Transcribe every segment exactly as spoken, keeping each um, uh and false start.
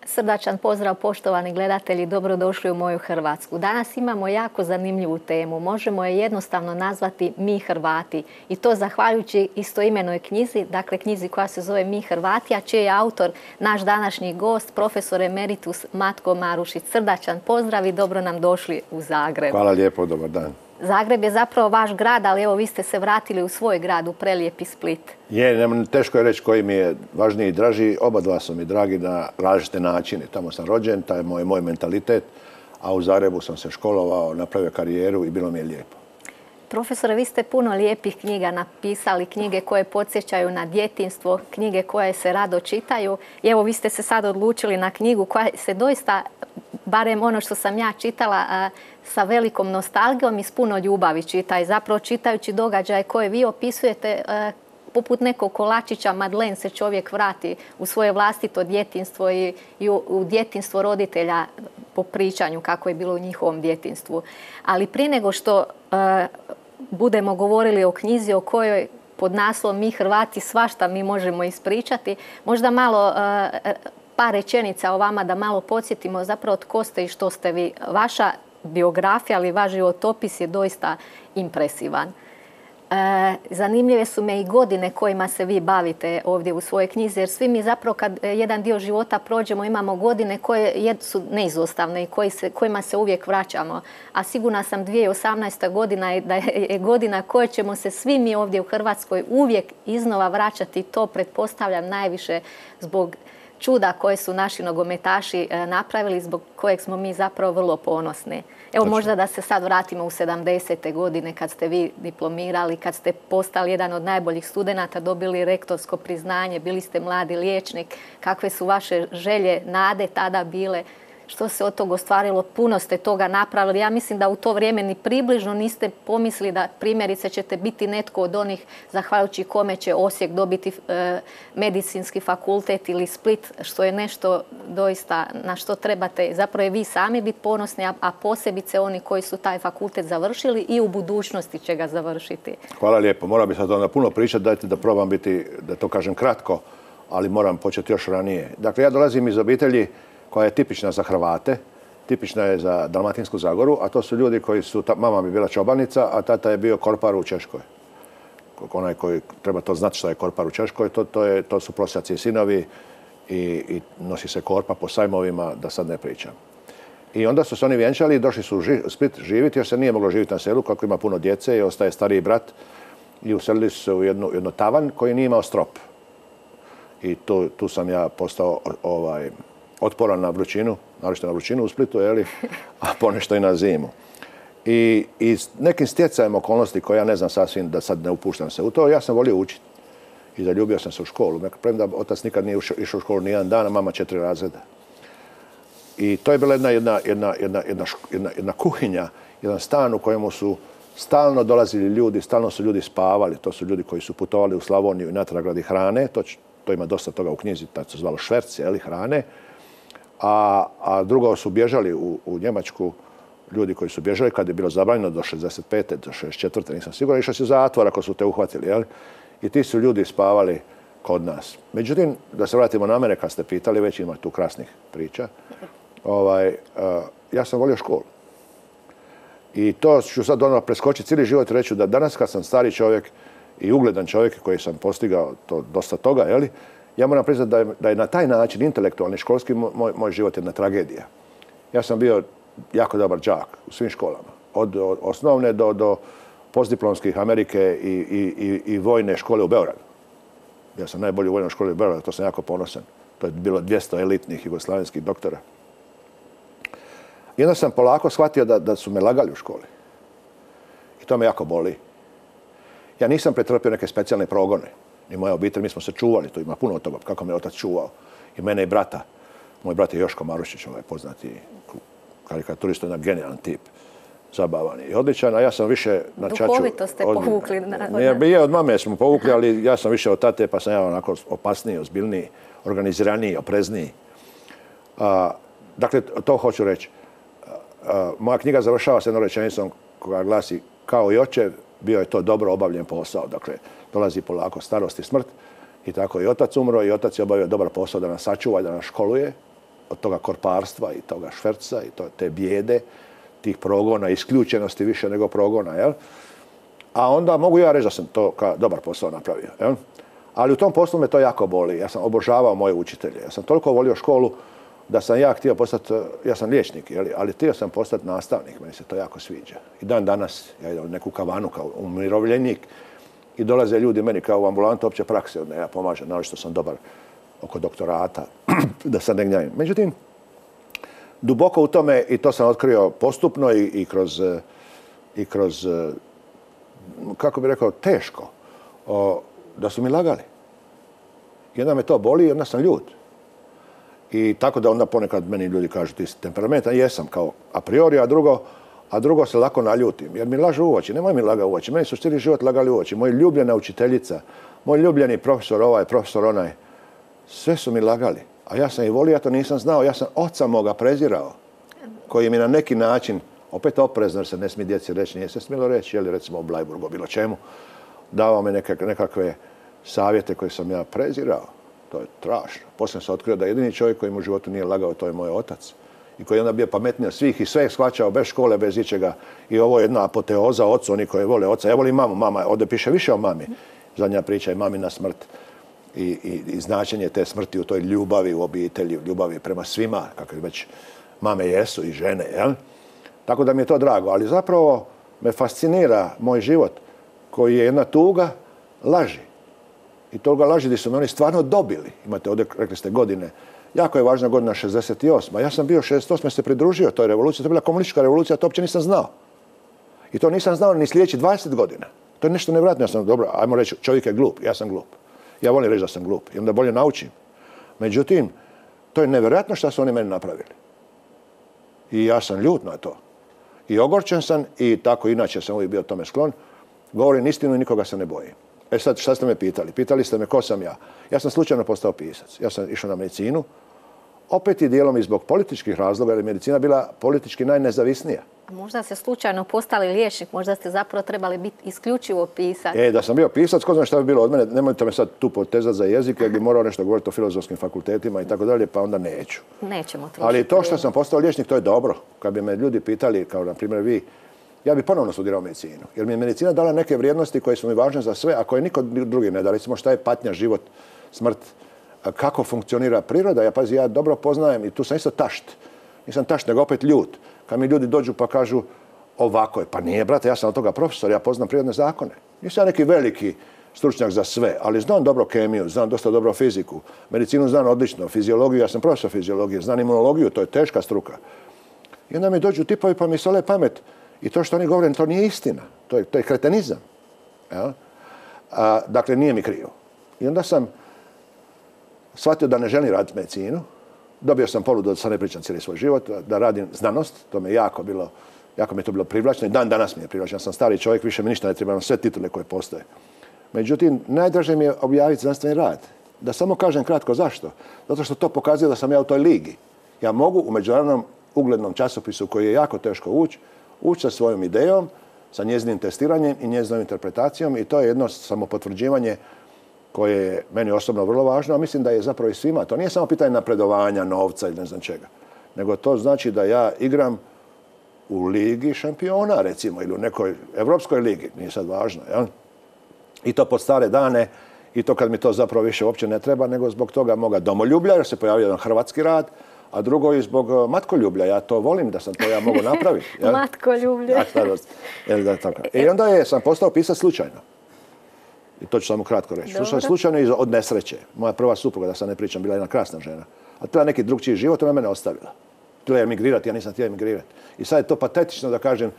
Srdačan pozdrav poštovani gledatelji, dobrodošli u moju Hrvatsku. Danas imamo jako zanimljivu temu. Možemo je jednostavno nazvati Mi Hrvati. I to zahvaljujući istoimenoj knjizi, dakle knjizi koja se zove Mi Hrvati, a čiji je autor naš današnji gost, profesor emeritus Matko Marušić. Srdačan pozdrav i dobro nam došli u Zagreb. Hvala lijepo, dobar dan. Zagreb je zapravo vaš grad, ali evo vi ste se vratili u svoj grad, u prelijepi Split. Je, teško je reći koji mi je važniji i draži. Oba dva su mi dragi na različite načine. Tamo sam rođen, taj je moj, moj mentalitet, a u Zagrebu sam se školovao, napravio karijeru i bilo mi je lijepo. Profesore, vi ste puno lijepih knjiga napisali, knjige koje podsjećaju na djetinjstvo, knjige koje se rado čitaju. I evo, vi ste se sad odlučili na knjigu koja se doista, barem ono što sam ja čitala, sa velikom nostalgijom i s puno ljubavi čita. I zapravo čitajući događaje koje vi opisujete, poput nekog kolačića Madeleine se čovjek vrati u svoje vlastito djetinjstvo i, i u, u djetinjstvo roditelja po pričanju kako je bilo u njihovom djetinjstvu. Ali prije nego što uh, budemo govorili o knjizi o kojoj pod naslovom Mi Hrvati svašta mi možemo ispričati, možda malo uh, par rečenica o vama da malo podsjetimo zapravo tko ste i što ste vi. Vaša biografija, ali vaš životopis je doista impresivan. E, zanimljive su me i godine kojima se vi bavite ovdje u svojoj knjizi, jer svi mi zapravo kad jedan dio života prođemo imamo godine koje su neizostavne i koji se, kojima se uvijek vraćamo. A sigurna sam dvije tisuće osamnaesta godina je da je godina koje ćemo se svi mi ovdje u Hrvatskoj uvijek iznova vraćati. To pretpostavljam najviše zbog čuda koje su naši nogometaši napravili, zbog kojeg smo mi zapravo vrlo ponosni. Evo možda da se sad vratimo u sedamdesete godine kad ste vi diplomirali, kad ste postali jedan od najboljih studenata, dobili rektorsko priznanje, bili ste mladi liječnik. Kakve su vaše želje, nade tada bile? Što se od toga ostvarilo? Puno ste toga napravili. Ja mislim da u to vrijeme ni približno niste pomislili da primjerice ćete biti netko od onih zahvaljujući kome će Osijek dobiti e, medicinski fakultet ili Split, što je nešto doista na što trebate zapravo i vi sami biti ponosni, a, a posebice oni koji su taj fakultet završili i u budućnosti će ga završiti. Hvala lijepo. Moram bi sad onda puno pričati, dajte da probam biti, da to kažem kratko, ali moram početi još ranije. Dakle, ja dolazim iz obitelji koja je tipična za Hrvate, tipična je za Dalmatinsku Zagoru, a to su ljudi koji su, mama bi bila čobanica, a tata je bio korpar u Češkoj. Onaj koji treba to znati što je korpar u Češkoj, to, to, je, to su prosjaci i sinovi i, i nosi se korpa po sajmovima, da sad ne pričam. I onda su se oni vjenčali i došli su u Split živjeti, jer se nije moglo živjeti na selu, kako ima puno djece i ostaje stariji brat. I uselili su se u jednu, jednu tavan koji nije imao strop. I tu, tu sam ja postao ovaj, otporan na vrućinu, naročito na vrućinu u Splitu, jeli, a ponešto i na zimu. I, i s nekim stjecajem okolnosti koje ja ne znam sasvim, da sad ne upuštam se u to, ja sam volio učiti. I zaljubio sam se u školu. Premda otac nikad nije išao u školu nijedan dan, a mama četiri razreda. I to je bila jedna, jedna, jedna, jedna, jedna, jedna kuhinja, jedan stan u kojemu su stalno dolazili ljudi, stalno su ljudi spavali. To su ljudi koji su putovali u Slavoniju i natrag radi hrane. To, to ima dosta toga u knjizi, tad se zvalo šverc, jeli, hrane. A, a drugo su bježali u, u Njemačku, ljudi koji su bježali kad je bilo zabranjeno do šezdeset pete do šezdeset četvrte nisam siguran, išao si u zatvor ako su te uhvatili, jel? I ti su ljudi spavali kod nas. Međutim, da se vratimo na mene kad ste pitali, već ima tu krasnih priča. Ovaj, uh, ja sam volio školu. I to ću sad ono preskočiti cijeli život i reći da danas kad sam stari čovjek i ugledan čovjek koji sam postigao to, dosta toga, jeli, ja moram priznati da je, da je na taj način intelektualni školski moj, moj život jedna tragedija. Ja sam bio jako dobar đak u svim školama. Od, od osnovne do, do postdiplomskih Amerike i, i, i, i vojne škole u Beogradu. Ja sam najbolji u vojnoj školi u Beogradu, to sam jako ponosan. To je bilo dvjesto elitnih jugoslavenskih doktora. I onda sam polako shvatio da, da su me lagali u školi. I to me jako boli. Ja nisam pretrpio neke specijalne progone. I moja obitelj, mi smo se čuvali, tu ima puno od toga, kako me otac čuvao. I mene i brata. Moj brat je Joško Marušić, ovaj poznati karikaturista, jedan genijalan tip. Zabavan i odličan, a ja sam više na čaču... Duhovito ste od, povukli. Ne, je od mame smo povukli, ali ja sam više od tate, pa sam ja onako opasniji, ozbiljniji, organiziraniji, oprezniji. A, dakle, to hoću reći. A, moja knjiga završava se jednom rečenicom koja glasi kao i očev, bio je to dobro obavljen posao. Dakle, dolazi polako starost i smrt i tako i otac umro i otac je obavio dobar posao da nas sačuva i da nas školuje. od toga korparstva i toga šverca i to, te bijede, tih progona, isključenosti više nego progona, jel? A onda mogu ja reći da sam to kao dobar posao napravio, jel? Ali u tom poslu me to jako boli. Ja sam obožavao moje učitelje. Ja sam toliko volio školu da sam ja htio postati, ja sam liječnik, jel? Ali htio sam postati nastavnik, meni se to jako sviđa. I dan danas, ja idem u neku kavanu kao umirovljenik i dolaze ljudi meni kao u ambulantu opće prakse, da ja pomažem, naravno što sam dobar oko doktorata, da sad ne gnjavim. Međutim, duboko u tome, i to sam otkrio postupno i, i kroz, i kroz, kako bih rekao, teško, o, da su mi lagali. Jedna me to boli i onda sam ljut. I tako da onda ponekad meni ljudi kažu ti si temperamentan, jesam kao a priori, a drugo, a drugo se lako naljutim. Jer mi lažu u oči, nemoj mi laga u oči. Meni su cijeli život lagali u oči. Moj ljubljena učiteljica, moj ljubljeni profesor ovaj, profesor onaj, sve su mi lagali. A ja sam ih volio, ja to nisam znao. Ja sam oca moga prezirao, koji mi na neki način, opet oprezno jer se ne smije djeci reći, nije se smjelo reći, jeli recimo o Blajburgu, o bilo čemu, davao mi nekakve, nekakve savjete koje sam ja prezirao. To je strašno. Poslije sam otkrio da jedini čovjek koji mu u životu nije lagao, to je moj otac. I koji je onda bio pametniji od svih i sve je shvaćao bez škole, bez ičega. I ovo je jedna apoteoza ocu, oni koji vole oca. Ja volim mamu, mama, ovdje piše više o mami. Zadnja priča je mamina smrt i, i, i značenje te smrti u toj ljubavi u obitelji, ljubavi prema svima, kako već mame jesu i žene, jel? Tako da mi je to drago, ali zapravo me fascinira moj život koji je jedna tuga laži. I toga laži gdje su me oni stvarno dobili. Imate ovdje, rekli ste, godine. Jako je važna godina šezdeset osma. Ja sam bio šezdeset osme se pridružio toj revoluciji. To je bila komunistička revolucija, to uopće nisam znao. I to nisam znao ni sljedećih dvadeset godina. To je nešto nevjerojatno. Ja sam, dobro, ajmo reći, čovjek je glup. Ja sam glup. Ja volim reći da sam glup. I onda bolje naučim. Međutim, to je nevjerojatno što su oni meni napravili. I ja sam ljut na to. I ogorčen sam i tako inače sam uvijek bio tome sklon. Govorim istinu i nikoga se ne bojim. E sad, šta ste me pitali? Pitali ste me ko sam ja. Ja sam slučajno postao pisac. Ja sam išao na medicinu. Opet i dijelom i zbog političkih razloga, jer je medicina bila politički najnezavisnija. Možda ste slučajno postali liječnik, možda ste zapravo trebali biti isključivo pisac. E, da sam bio pisac, ko znam šta bi bilo od mene, nemojte me sad tu potezati za jezik, jer bi morao nešto govoriti o filozofskim fakultetima i tako dalje, pa onda neću. Nećemo trošiti. Ali to što sam postao liječnik, to je dobro. Kad bi me ljudi pitali, kao na primjer vi, ja bi ponovno studirao medicinu. Jer mi je medicina dala neke vrijednosti koje su mi važne za sve, a koje niko drugi ne da. Recimo šta je patnja, život, smrt, kako funkcionira priroda. Ja, pazi, ja dobro poznajem i tu sam isto tašt. Nisam tašt, nego opet ljut. Kad mi ljudi dođu pa kažu ovako je. Pa nije, brate, ja sam od toga profesor, ja poznam prirodne zakone. Nisam neki veliki stručnjak za sve, ali znam dobro kemiju, znam dosta dobro fiziku. Medicinu znam odlično, fiziologiju, ja sam profesor fiziologije, znam imunologiju, to je teška struka. I onda mi dođu tipovi pa mi sole pamet. I to što oni govore, to nije istina. To je, to je kretenizam. Ja? A, dakle, nije mi krivo. I onda sam shvatio da ne želim raditi medicinu. Dobio sam ponudu da sad ne pričam cijeli svoj život, da radim znanost. To me jako bilo, jako mi je to bilo privlačno. I dan danas mi je privlačno. Ja sam stari čovjek, više mi ništa ne treba, sve titule koje postoje. Međutim, najdraže mi je objaviti znanstveni rad. Da samo kažem kratko zašto. Zato što to pokazuje da sam ja u toj ligi. Ja mogu u međunarodnom uglednom časopisu koji je jako teško ući, ući sa svojom idejom, sa njezinim testiranjem i njezinom interpretacijom i to je jedno samopotvrđivanje koje je meni osobno vrlo važno, a mislim da je zapravo i svima. To nije samo pitanje napredovanja, novca ili ne znam čega, nego to znači da ja igram u ligi šampiona, recimo, ili u nekoj evropskoj ligi, nije sad važno, jel? I to pod stare dane, i to kad mi to zapravo više uopće ne treba, nego zbog toga moga domoljublja, jer se pojavio jedan hrvatski rad, a drugo i zbog matkoljublja. Ja to volim da sam to ja mogu napraviti. Matkoljublje. I onda je, sam postao pisac slučajno. I to ću samo kratko reći. Slušao slučajno i od nesreće. Moja prva supruga, da sad ne pričam, bila jedna krasna žena. A htjela neki drugčiji život, ona mene ostavila. Htjela je emigrirati, ja nisam htio emigrirati. I sad je to patetično da kažem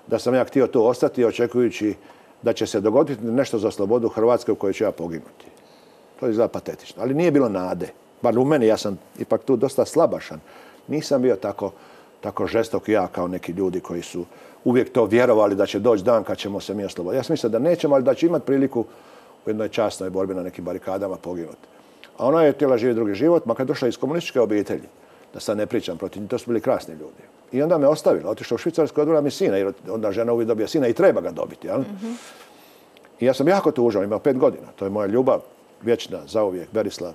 da sam ja htio tu ostati, očekujući da će se dogoditi nešto za slobodu Hrvatske u kojoj ću ja poginuti. To je izgleda patetično. Ali nije bilo nade. Bar u meni, ja sam ipak tu dosta slabašan. Nisam bio tako, tako žestok ja kao neki ljudi koji su uvijek to vjerovali da će doći dan kad ćemo se mi osloboditi. Ja sam mislio da nećemo, ali da će imati priliku u jednoj časnoj borbi na nekim barikadama poginuti. A ona je htjela živjeti drugi život, makar došla iz komunističke obitelji. Da sad ne pričam protiv njih, to su bili krasni ljudi. I onda me ostavila, otišla u Švicarsku, odvela mi sina, jer onda žena uvijek dobija sina i treba ga dobiti. Jel? Mm-hmm. I ja sam jako tužan, imao pet godina. To je moja ljubav, vječna, zauvijek, Berislav,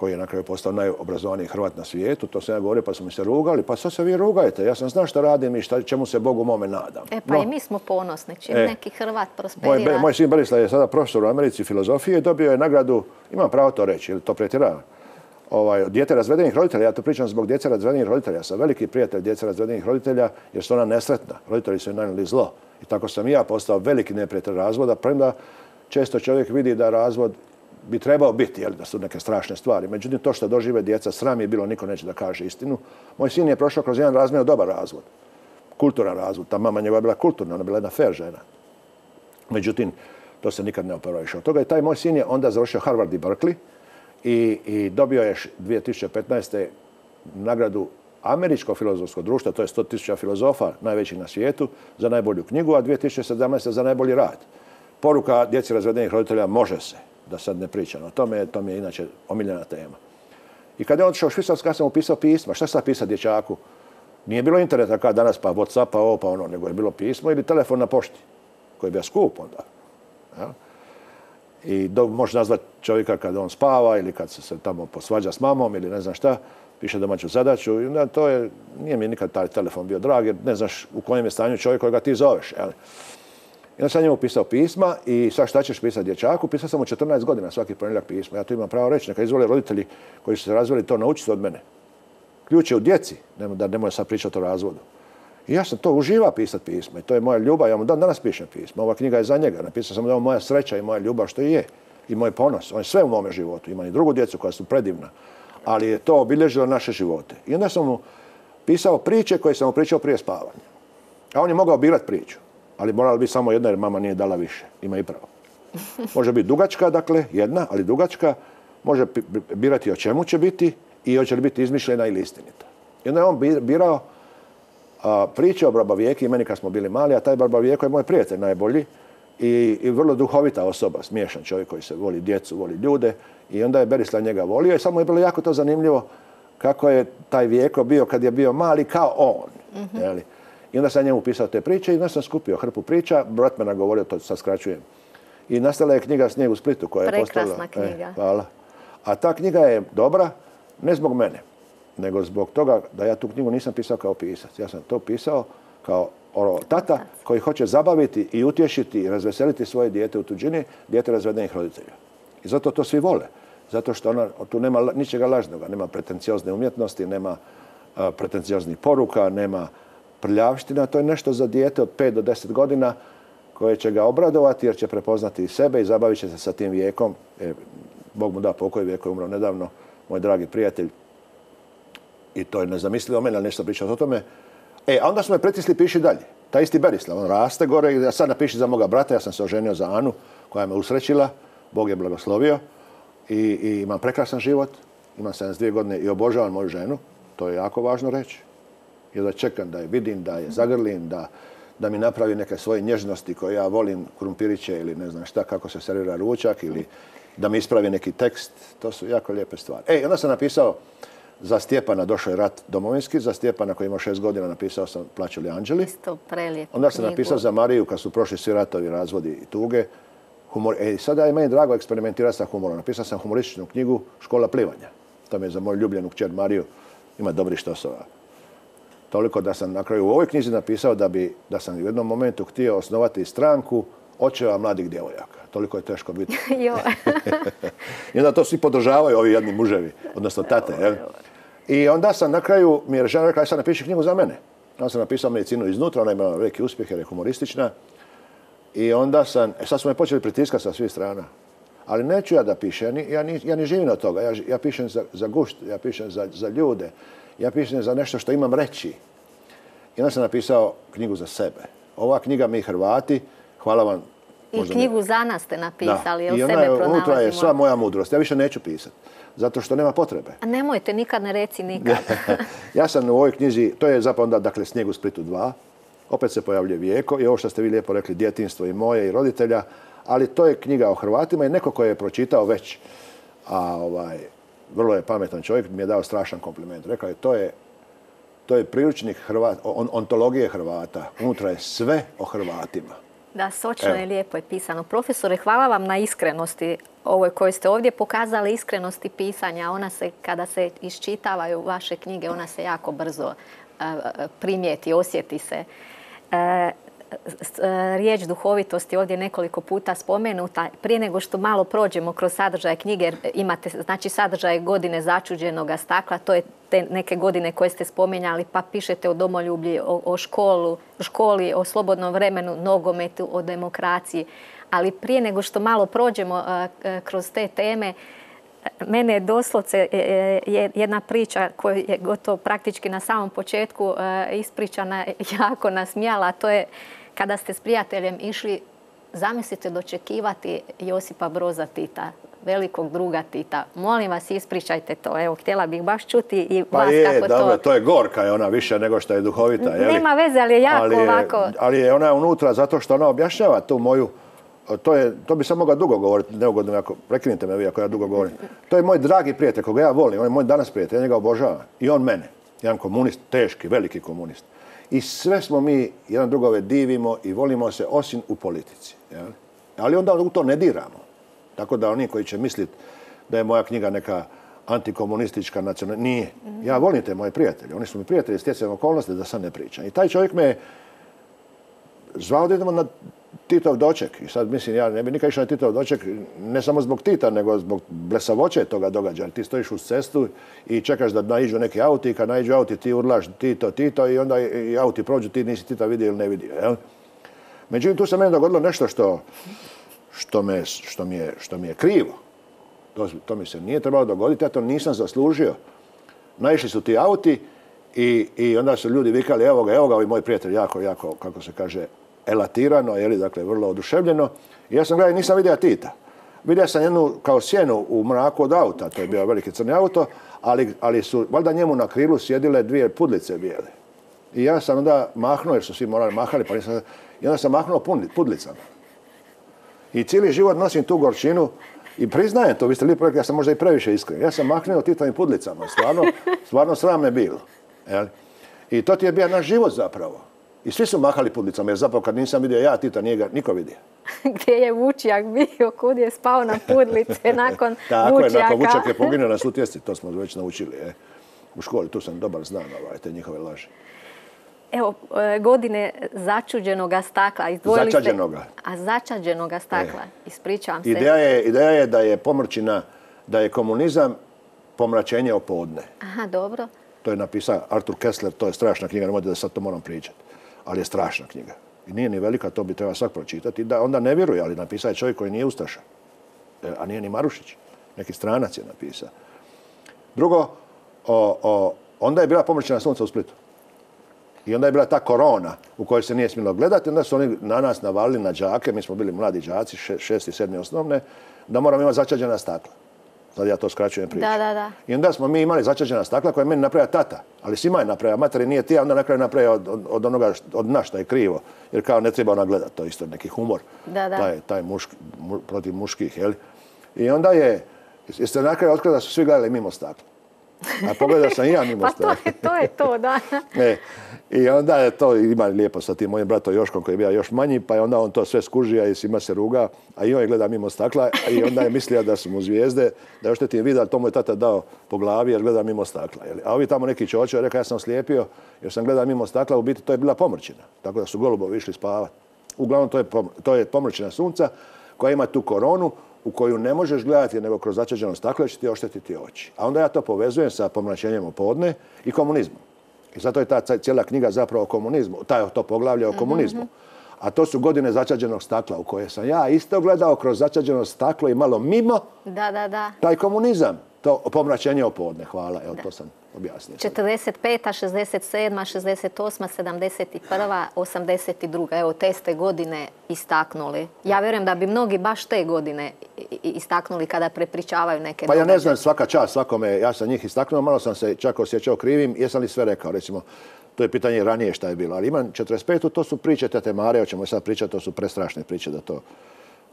koji je na kraju postao najobrazovaniji Hrvat na svijetu. To sam ja govorio pa su mi se rugali. Pa sad se vi rugajte. Ja sam znao šta radim i šta, čemu se Bogu mome nadam. E pa no, i mi smo ponosni. Čim e, neki Hrvat prosperira. Moj, moj sin Berislav je sada profesor u Americi filozofije i dobio je nagradu, imam pravo to reći, ili to pretjeravam, ovaj, dijete razvedenih roditelja. Ja to pričam zbog djece razvedenih roditelja. Ja sam veliki prijatelj djece razvedenih roditelja jer su ona nesretna. Roditelji su im nanijeli zlo. I tako sam i ja postao veliki neprijatelj razvoda, premda često čovjek vidi da razvod bi trebao biti, jel, da su neke strašne stvari. Međutim, to što dožive djeca, sram je bilo, niko neće da kaže istinu. Moj sin je prošao kroz jedan razmjerno dobar razvod. Kulturan razvod. Ta mama njegova je bila kulturna, ona je bila jedna fair žena. Međutim, to se nikad ne oporaviše od toga. I taj moj sin je onda završio Harvard i Berkeley i, i dobio je dvije tisuće petnaeste. nagradu Američkog filozofskog društva, to je sto tisuća filozofa, najvećih na svijetu, za najbolju knjigu, a dvije tisuće sedamnaeste. za najbolji rad. Poruka djeci razvedenih roditelja može se, da sad ne pričam o tome, to mi je inače omiljena tema. I kad je otišao u Švicarsku, ja sam mu pisao pisma. Šta sad pisati dječaku? Nije bilo interneta kao danas, pa WhatsApp, pa ovo, pa ono, nego je bilo pismo ili telefon na pošti, koji je bio skup onda. Ja? I do, može nazvati čovjeka kad on spava ili kad se tamo posvađa s mamom ili ne znam šta, piše domaću zadaću. I onda to je, nije mi nikad taj telefon bio drag, jer ne znaš u kojem je stanju čovjek kojega ti zoveš. Jel? I onda sam njemu pisao pisma i sad šta ćeš pisati dječaku? Pisao sam mu četrnaest godina svaki ponedjeljak pisma. Ja to imam pravo reći, neka izvole roditelji koji su se razveli to naučiti od mene. Ključ je u djeci, da ne moja sad pričati o razvodu. I ja sam to uživa pisati pisma i to je moja ljubav, ja mu dan danas pišem pisma. Ova knjiga je za njega, napisao sam da je moja sreća i moja ljubav što i je. I moj ponos, on je sve u mome životu. Imam i drugu djecu koja su predivna, ali je to obilježilo naše živote. I onda sam mu pisao priče koje sam mu pričao prije spavanja. A on je mogao birati priču. Ali morala biti samo jedna jer mama nije dala više. Ima i pravo. Može biti dugačka, dakle, jedna, ali dugačka. Može birati o čemu će biti i hoće li biti izmišljena ili istinita. I onda je on birao a, priče o Barbavijeki i meni kad smo bili mali, a taj Barbavijeko je moj prijatelj najbolji i, i vrlo duhovita osoba, smiješan čovjek koji se voli djecu, voli ljude. I onda je Berislav njega volio i samo je bilo jako to zanimljivo kako je taj Vijeko bio kad je bio mali kao on. Mm-hmm. Jeli? I onda sam njemu pisao te priče i onda sam skupio hrpu priča. Brat me nagovorio, to sad skraćujem. I nastala je knjiga Snijeg u Splitu koja je postala... Prekrasna knjiga. E, hvala. A ta knjiga je dobra ne zbog mene, nego zbog toga da ja tu knjigu nisam pisao kao pisac. Ja sam to pisao kao ono, tata koji hoće zabaviti i utješiti i razveseliti svoje dijete u tuđini, dijete razvedenih roditelja. I zato to svi vole. Zato što ona, tu nema ničega lažnoga. Nema pretenciozne umjetnosti, nema a, pretencioznih poruka, nema prljavština. To je nešto za dijete od pet do deset godina koje će ga obradovati jer će prepoznati i sebe i zabavit će se sa tim Vijekom. E, Bog mu da pokoj, Vijeko je umro nedavno, moj dragi prijatelj. I to je nezamislivo meni, ali nešto pričati o tome. E, a onda su me pritisli, piši dalje. Taj isti Berislav, on raste gore i sad napiši za moga brata. Ja sam se oženio za Anu koja me usrećila. Bog je blagoslovio. I, i imam prekrasan život. Imam sedamdesет dvije godine i obožavam moju ženu. To je jako važno reći. I da čekam da je vidim, da je zagrlim, da, da mi napravi neke svoje nježnosti koje ja volim, krumpiriće ili ne znam šta, kako se servira ručak ili da mi ispravi neki tekst. To su jako lijepe stvari. E, onda sam napisao za Stjepana, došao je rat domovinski, za Stjepana koji ima šest godina napisao sam Plaću li anđeli. Isto prelijepu Onda sam knjigu. napisao za Mariju kad su prošli svi ratovi, razvodi i tuge. Humor. E, sada je meni drago eksperimentirati sa humorom. Napisao sam humorističnu knjigu Škola plivanja. To mi je za moju ljubljenu kćer Mariju. Ima dobrih štosova. Toliko da sam na kraju u ovoj knjizi napisao da, bi, da sam u jednom momentu htio osnovati stranku očeva mladih djevojaka. Toliko je teško biti. I onda to svi podržavaju, ovi jedni muževi, odnosno tate. Jel? I onda sam na kraju, mi je žena rekla, aj sad napiši knjigu za mene. Onda sam napisao Medicinu iznutra, ona ima veliki uspjeh jer je humoristična. I onda sam, e, sad su me počeli pritiskati sa svih strana. Ali neću ja da pišem, ja ni, ja ni živim od toga. Ja, ja pišem za, za gušt, ja pišem za, za ljude, ja pišem za nešto što imam reći. I onda sam napisao knjigu za sebe. Ova knjiga Mi Hrvati, hvala vam. I knjigu ne... za nas ste napisali, jel sebe pronalazimo? I unutra je sva moja mudrost. Ja više neću pisati, zato što nema potrebe. A nemojte, nikad ne reci nikad. Ja sam u ovoj knjizi, to je zapravo onda, dakle, Snijeg u Splitu dva. Opet se pojavljuje Vijeko i ovo što ste vi lijepo rekli, djetinjstvo i moje i roditelja. Ali to je knjiga o Hrvatima i neko ko je pročitao već, a ovaj, vrlo je pametan čovjek, mi je dao strašan kompliment. Rekao je, to je, to je priručnik Hrvat, on, ontologije Hrvata. Unutra je sve o Hrvatima. Da, sočno i lijepo je pisano. Profesore, hvala vam na iskrenosti ovoj koju ste ovdje pokazali, iskrenosti pisanja. Ona se, kada se iščitavaju vaše knjige, ona se jako brzo primijeti, osjeti se. Riječ duhovitost je ovdje nekoliko puta spomenuta. Prije nego što malo prođemo kroz sadržaje knjige, imate znači sadržaje godine začuđenoga stakla, to je te neke godine koje ste spomenjali, pa pišete o domoljublji, o, o školu, školi, o slobodnom vremenu, nogometu, o demokraciji. Ali prije nego što malo prođemo kroz te teme, mene je doslovce jedna priča koja je gotovo praktički na samom početku ispričana, jako nasmijala, a to je kada ste s prijateljem išli, zamislite, dočekivati Josipa Broza Tita, velikog druga Tita. Molim vas, ispričajte to. Evo, htjela bih baš čuti i pa vas je, kako to... dobro, to je gorka, je ona više nego što je duhovita. Je Nema veze, ali je jako ali je, ovako... Ali je ona unutra zato što ona objašnjava tu moju... To, je, to bi sam mogao dugo govoriti, neugodno, ako prekinite me vi ako ja dugo govorim. To je moj dragi prijatelj, koga ja volim, on je moj danas prijatelj, ja njega obožavam. I on mene, jedan komunist, teški, veliki komunist. I sve smo mi jedan drugove divimo i volimo se osim u politici. Jel? Ali onda u to ne diramo. Tako da oni koji će misliti da je moja knjiga neka antikomunistička nacionalna, nije. Ja volim te moje prijatelje, oni su mi prijatelji stjecajem okolnosti da sad ne pričam. I taj čovjek me zvao da idemo na Titov doček. I sad mislim, ja ne bi nikad išao na Titov doček, ne samo zbog Tita, nego zbog blesavoće toga događaja. Ti stojiš uz cestu i čekaš da naiđu neki auti i kad naiđu auti ti urlaš Tito, Tito i onda i auti prođu, ti nisi Tita vidio ili ne vidio. Jel? Međutim, tu se meni dogodilo nešto što, što, me, što, mi, je, što mi je krivo. To, to mi se nije trebalo dogoditi, ja to nisam zaslužio. Naišli su ti auti i, i onda su ljudi vikali, evo ga, evo ga, ovi moj prijatelj, jako, jako, kako se kaže, elatirano, jeli, dakle, vrlo oduševljeno. I ja sam gledao i nisam vidio Tita. Vidio sam jednu kao sjenu u mraku od auta, to je bio veliki crni auto, ali, ali su valjda njemu na krilu sjedile dvije pudlice bijele. I ja sam onda mahnuo, jer su svi morali mahali, pa nisam, i onda sam mahnuo pudlicama. I cijeli život nosim tu gorčinu i priznajem to, vi ste lijepo rekli, ja sam možda i previše iskren. Ja sam mahnuo Titovim pudlicama, stvarno, stvarno sram me bilo. Jel? I to ti je bio naš život zapravo. I svi su mahali pudlicama, jer zapravo kad nisam vidio ja Tita, nije ga niko vidio. Gdje je Vučjak bio, kud je spao na pudlice nakon Tako Vučjaka. je, nakon Vučjak je poginuo na Sutjesti, to smo već naučili. Je. U školi, tu sam dobar znam ovaj, te njihove laži. Evo, godine začuđenoga stakla. Izdvojili Začađenoga. Ste, a začađenoga stakla, e. ispričavam se. Ideja je, ideja je da je pomrčina, da je komunizam pomračenje opodne. Aha, dobro. To je napisao Arthur Kessler, to je strašna knjiga, nemojte da sad to moram pričati. Ali je strašna knjiga. I nije ni velika, to bi treba svak pročitati. Da, onda ne vjeruje, ali napisao je čovjek koji nije ustaša. A nije ni Marušić. Neki stranac je napisao. Drugo, o, o, onda je bila pomrčina sunca u Splitu. I onda je bila ta korona u kojoj se nije smjelo gledati. Onda su oni na nas navalili na đake, mi smo bili mladi đaci, šesti, sedmi osnovne, da moramo imati začađena stakla. Sad ja to skraćujem priču. Da, da, da. I onda smo mi imali začađena stakla koje je meni napravio tata. Ali svima je napravio, materi nije ti, a onda na kraju napravio od, od, od onoga, od nas što je krivo. Jer kao ne treba ona gledati, to je isto neki humor. Da, da. Taj, taj muški, mu, protiv muških, jel? I onda je, jeste na kraju otkrili da su svi gledali mimo stakla. A pogledao sam i ja mimo stakla. Pa to je to, je to da. E, I onda je to ima lijepo sa tim mojim bratom Joškom koji je bio još manji, pa je onda on to sve skužija i svima se ruga, a i on je gleda mimo stakla i onda je mislio da su mu zvijezde, da još te ti je vidio, ali to mu je tata dao po glavi jer gleda mimo stakla. Jel? A ovi tamo neki čočo je rekao ja sam slijepio jer sam gledao mimo stakla, u biti to je bila pomrčina, tako da su golubovi išli spavati. Uglavnom to je, to je pomrčina sunca koja ima tu koronu u koju ne možeš gledati nego kroz začađeno staklo će ti oštetiti oči. A onda ja to povezujem sa pomračenjem opodne i komunizmom. I zato je ta cijela knjiga zapravo o komunizmu, taj to poglavlje o komunizmu. A to su godine začađenog stakla u koje sam ja isto gledao kroz začađeno staklo i malo mimo da, da, da. taj komunizam. To pomračenje opodne, hvala, evo to sam objasnio. četrdeset peta, šezdeset sedma, šezdeset osma, sedamdeset prva, osamdeset druga. Evo, te ste godine istaknuli. Ja vjerujem da bi mnogi baš te godine istaknuli kada prepričavaju neke Pa ja događaje. ne znam, svaka čast svakome, ja sam njih istaknuo, malo sam se čak osjećao krivim, jesam li sve rekao, recimo, to je pitanje ranije šta je bilo. Ali imam četrdeset petu, to su priče Tete Mare, o čemu sad pričati, to su prestrašne priče da to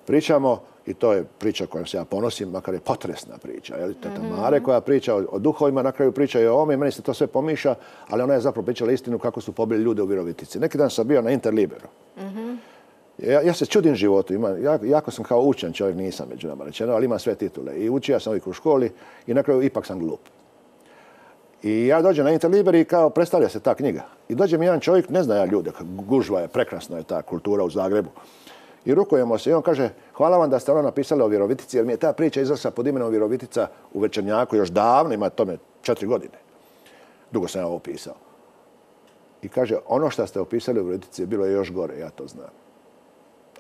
pričamo i to je priča kojom se ja ponosim, makar je potresna priča. Je li? Teta Mare koja priča o, o duhovima, na kraju priča i o ovome, meni se to sve pomiša, ali ona je zapravo pričala istinu kako su pobili ljude u Virovitici. Neki dan sam bio na Interliberu. Mm-hmm. Ja, ja se čudim životu. Ima, ja, jako sam kao učen čovjek, nisam među nama rečeno, ali imam sve titule. I učio sam uvijek u školi i na kraju ipak sam glup. I ja dođem na Interliber i kao predstavlja se ta knjiga. I dođe mi jedan čovjek, ne zna ja ljude, gužva je, prekrasna je ta kultura u Zagrebu. I rukujemo se i on kaže, hvala vam da ste ono napisali o Virovitici, jer mi je ta priča izašla pod imenom Virovitica u Večernjaku još davno, ima tome četiri godine. Dugo sam ja ovo pisao. I kaže, ono što ste opisali u Virovitici je bilo još gore, ja to znam.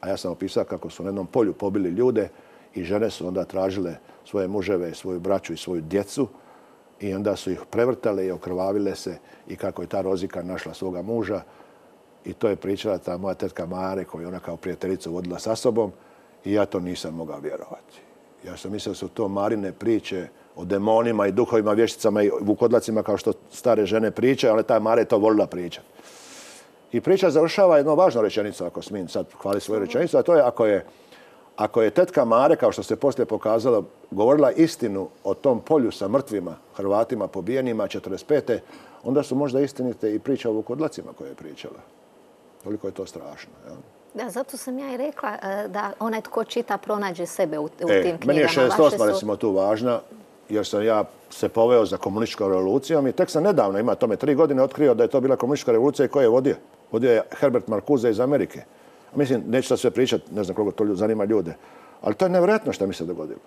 A ja sam opisao kako su na jednom polju pobili ljude i žene su onda tražile svoje muževe, svoju braću i svoju djecu i onda su ih prevrtale i okrvavile se i kako je ta Rozika našla svoga muža. I to je pričala ta moja tetka Mare koju je ona kao prijateljicu vodila sa sobom i ja to nisam mogao vjerovati. Ja sam mislio da su to Marine priče o demonima i duhovima, vješticama i vukodlacima kao što stare žene pričaju, ali ta Mare je to volila pričati. I priča završava jednom važnom rečenicom, ako smijem sad hvali svoju rečenicu, a to je ako je, ako je tetka Mare, kao što se poslije pokazalo, govorila istinu o tom polju sa mrtvima, Hrvatima pobijenima četrdeset pete onda su možda istinite i priče o vukodlacima koje je pričala. Toliko je to strašno. Ja? Da, zato sam ja i rekla da onaj tko čita pronađe sebe u, u e, tim knjigama. Meni je šezdeset osma su... recimo tu važna, jer sam ja se poveo za komunističkom revolucijom i tek sam nedavno, ima tome tri godine, otkrio da je to bila komunistička revolucija i ko je vodio. Vodio je Herbert Marcuse iz Amerike. Mislim, neću sad sve pričati, ne znam koliko to zanima ljude, ali to je nevjerojatno što mi se dogodilo.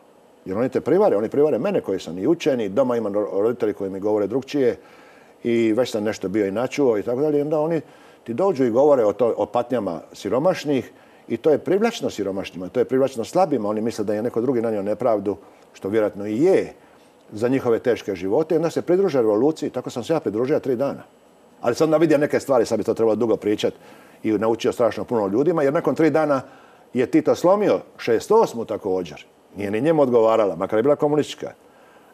Jer oni te privare, oni privare mene koji sam i učen i doma imam roditelji koji mi govore drugčije i već sam nešto bio i načuo i tako dalje. I onda oni ti dođu i govore o, to, o patnjama siromašnih i to je privlačno siromašnima, to je privlačno slabima. Oni misle da je neko drugi nanio nepravdu, što vjerojatno i je, za njihove teške živote. I onda se pridruže revoluciji, tako sam se ja pridružio tri dana. Ali sam onda vidio neke stvari, sad bi to trebalo dugo pričati i naučio strašno puno ljudima, jer nakon tri dana je Tito slomio šezdeset osmu također. Nije ni njemu odgovarala, makar je bila komunistička.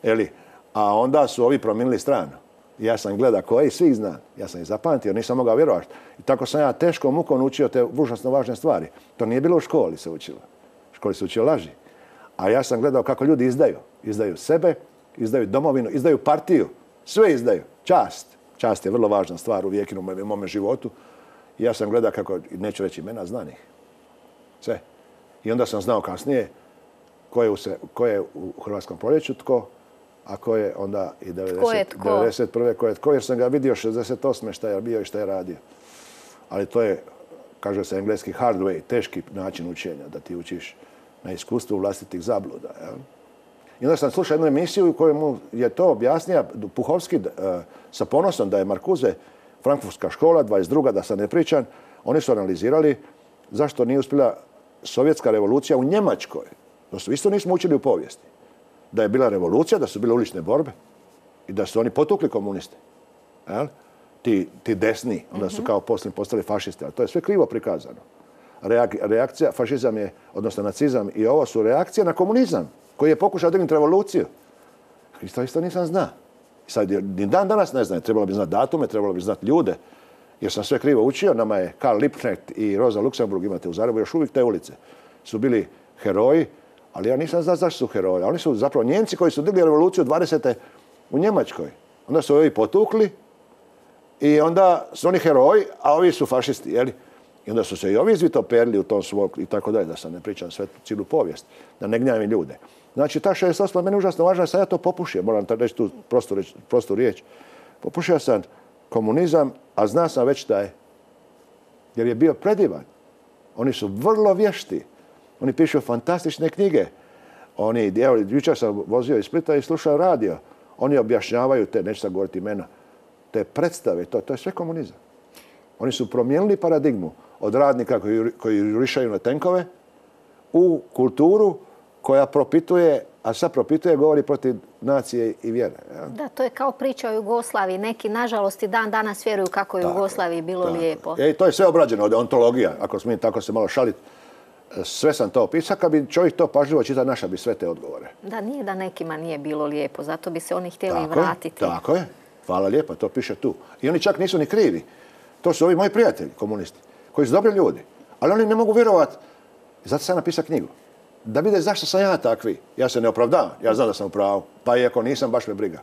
Eli, a onda su ovi promijenili stranu. Ja sam gledao koje i svih znam. Ja sam ih zapamtio, nisam mogao vjerovati. I tako sam ja teško mukom učio te užasno važne stvari. To nije bilo u školi se učilo. U školi se učio laži. A ja sam gledao kako ljudi izdaju. Izdaju sebe, izdaju domovinu, izdaju partiju. Sve izdaju. Čast. Čast je vrlo važna stvar u vijekinu u mome životu. I ja sam gledao kako, neću reći imena, znanih. Sve. I onda sam znao kasnije ko je u, se, ko je u Hrvatskom proljeću tko, a ko je onda i devedeset prve ko je tko, jer sam ga vidio šezdeset osme šta je bio i šta je radio. Ali to je, kaže se engleski hard way, teški način učenja, da ti učiš na iskustvu vlastitih zabluda. Jel? I onda sam slušao jednu emisiju u kojoj mu je to objasnio Puhovski uh, sa ponosom da je Marcuse, Frankfurtska škola, dvadeset druga da sad ne pričam, oni su analizirali zašto nije uspjela sovjetska revolucija u Njemačkoj. To su isto nismo učili u povijesti. Da je bila revolucija, da su bile ulične borbe i da su oni potukli komuniste. Jel? Ti, ti desni, onda su kao poslije postali fašisti, ali to je sve krivo prikazano. Reak, reakcija, fašizam je, odnosno nacizam i ovo su reakcije na komunizam koji je pokušao dignuti revoluciju. I to isto nisam znao. Sad, ni dan danas ne znam, trebalo bi znati datume, trebalo bi znati ljude, jer sam sve krivo učio. Nama je Karl Liebknecht i Rosa Luxemburg, imate u Zagrebu još uvijek te ulice, su bili heroji, ali ja nisam znao zašto su heroji. Oni su zapravo Njemci koji su digli revoluciju dvadesete u Njemačkoj. Onda su ovi potukli i onda su oni heroji, a ovi su fašisti, jeli? I onda su se i ovi izvitoperili u tom svog i tako dalje, da sam ne pričam sve cijelu povijest, da ne gnjavim ljude. Znači, ta šezdeset osma meni užasno važna, sad ja to popušio, moram reći tu prostu, prostu riječ. Popušio sam komunizam, a zna sam već da je. Jer je bio predivan. Oni su vrlo vješti. Oni pišu fantastične knjige. Oni, evo, jučer sam vozio iz Splita i slušao radio. Oni objašnjavaju te, neću sad govoriti imena, te predstave, to, to je sve komunizam. Oni su promijenili paradigmu od radnika koji, koji jurišaju na tenkove u kulturu koja propituje, a sad propituje, govori protiv nacije i vjere. Ja? Da, to je kao priča o Jugoslaviji. Neki, nažalost, i dan danas vjeruju kako je u Jugoslaviji bilo tako lijepo. E, to je sve obrađeno od ontologija, ako smijem tako se malo šaliti. Sve sam to opisao, kad bi čovjek to pažljivo čitao, naša bi sve te odgovore. Da, nije da nekima nije bilo lijepo, zato bi se oni htjeli tako vratiti. Je, tako je, hvala lijepa, to piše tu. I oni čak nisu ni krivi. To su ovi moji prijatelji, komunisti, koji su dobri ljudi. Ali oni ne mogu vjerovati, zato sam napisao knjigu. Da vide zašto sam ja takvi. Ja se ne opravdavam, ja znam da sam u pravu. Pa iako nisam, baš me briga.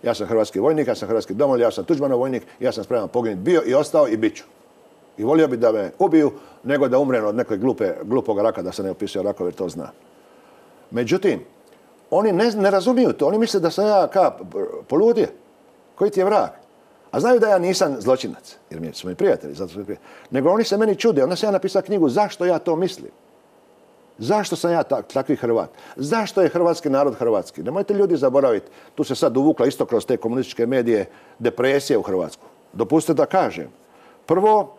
Ja sam hrvatski vojnik, ja sam hrvatski domoljub, ja sam Tuđmanov vojnik, ja sam spreman poginuti bio i ostao i bit ću. I volio bi da me ubiju, nego da umrem od nekog glupe, glupog raka, da se ne opisuje rakove, jer to zna. Međutim, oni ne, ne razumiju to. Oni misle da sam ja ka poludije. Koji ti je vrag? A znaju da ja nisam zločinac, jer mi su mi prijatelji, zato su mi prijatelji. Nego oni se meni čude. Onda sam ja napisao knjigu zašto ja to mislim. Zašto sam ja tak, takvi Hrvat? Zašto je hrvatski narod hrvatski? Nemojte ljudi zaboraviti. Tu se sad uvukla isto kroz te komunističke medije depresija u Hrvatsku. Dopustite da kažem. Prvo,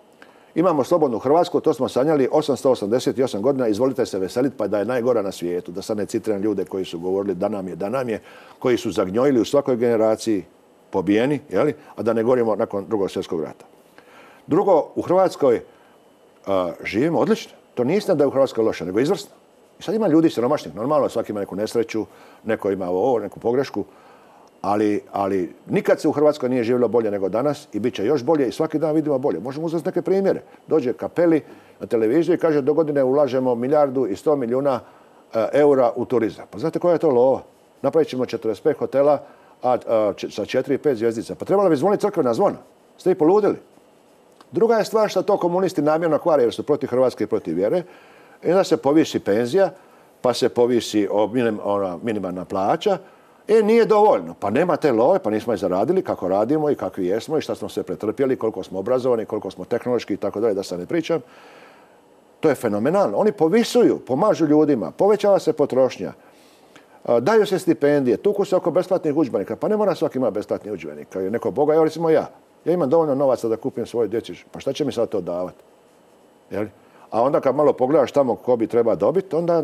imamo slobodnu Hrvatsku, to smo sanjali osamsto osamdeset osam godina, izvolite se veseliti pa da je najgora na svijetu. Da sad ne citiram ljude koji su govorili da nam je, da nam je, koji su zagnjojili u svakoj generaciji, pobijeni, jeli? A da ne govorimo nakon drugog svjetskog rata. Drugo, u Hrvatskoj a, živimo odlično. To nije istina da je u Hrvatskoj loše, nego izvrsno. I sad ima ljudi siromašnih, normalno, svaki ima neku nesreću, neko ima ovo, neku pogrešku, ali, ali nikad se u Hrvatskoj nije živjelo bolje nego danas i bit će još bolje i svaki dan vidimo bolje. Možemo uzeti neke primjere. Dođe Kapeli na televiziju i kaže do godine ulažemo milijardu i sto milijuna e, eura u turizam. Pa znate koja je to lova? Napravit ćemo četrdeset pet hotela a, a, č, sa četiri i pet zvjezdica. Pa trebalo bi zvoniti crkvena zvona. Ste i poludili. Druga je stvar što to komunisti namjerno kvare jer su protiv Hrvatske i protiv vjere. I onda se povisi penzija, pa se povisi minim, ona, minimalna plaća. E, nije dovoljno. Pa nema te love, pa nismo je zaradili kako radimo i kakvi jesmo i šta smo sve pretrpjeli, koliko smo obrazovani, koliko smo tehnološki i tako dalje, da se ne pričam. To je fenomenalno. Oni povisuju, pomažu ljudima, povećava se potrošnja, daju se stipendije, tuku se oko besplatnih udžbenika. Pa ne mora svaki imati besplatni udžbenik. Kao je neko boga, evo recimo ja. Ja imam dovoljno novaca da kupim svoje djeci. Pa šta će mi sad to davati? Jel? A onda kad malo pogledaš tamo ko bi treba dobiti, onda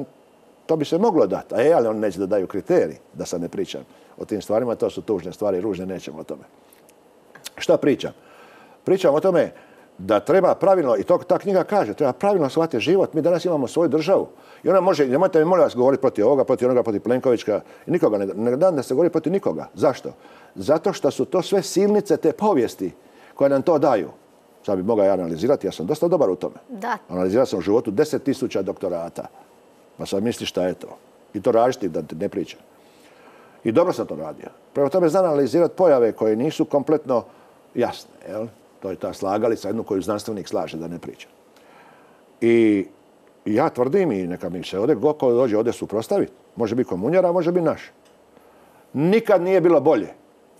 to bi se moglo dati. A je, ali oni neće da daju kriterij, da sad ne pričam o tim stvarima. To su tužne stvari, ružne, nećemo o tome. Šta pričam? Pričam o tome da treba pravilno, i to ta knjiga kaže, treba pravilno shvatiti život. Mi danas imamo svoju državu. I ona može, nemojte mi molim vas govoriti protiv ovoga, protiv onoga, protiv Plenkovića i nikoga. Ne, ne dam da se govori protiv nikoga. Zašto? Zato što su to sve silnice te povijesti koje nam to daju. Sad bi mogao ja analizirati, ja sam dosta dobar u tome. Da. Analizirao sam u životu deset tisuća doktorata. Pa sad misli šta je to. I to različiti da ne pričam. I dobro sam to radio. Prema tome znam analizirati pojave koje nisu kompletno jasne. Jel? To je ta slagalica, jednu koju znanstvenik slaže, da ne pričam. I ja tvrdim i neka mi se ovdje, ko dođe ovdje suprotstaviti. Može biti komunjara, može biti naš. Nikad nije bilo bolje.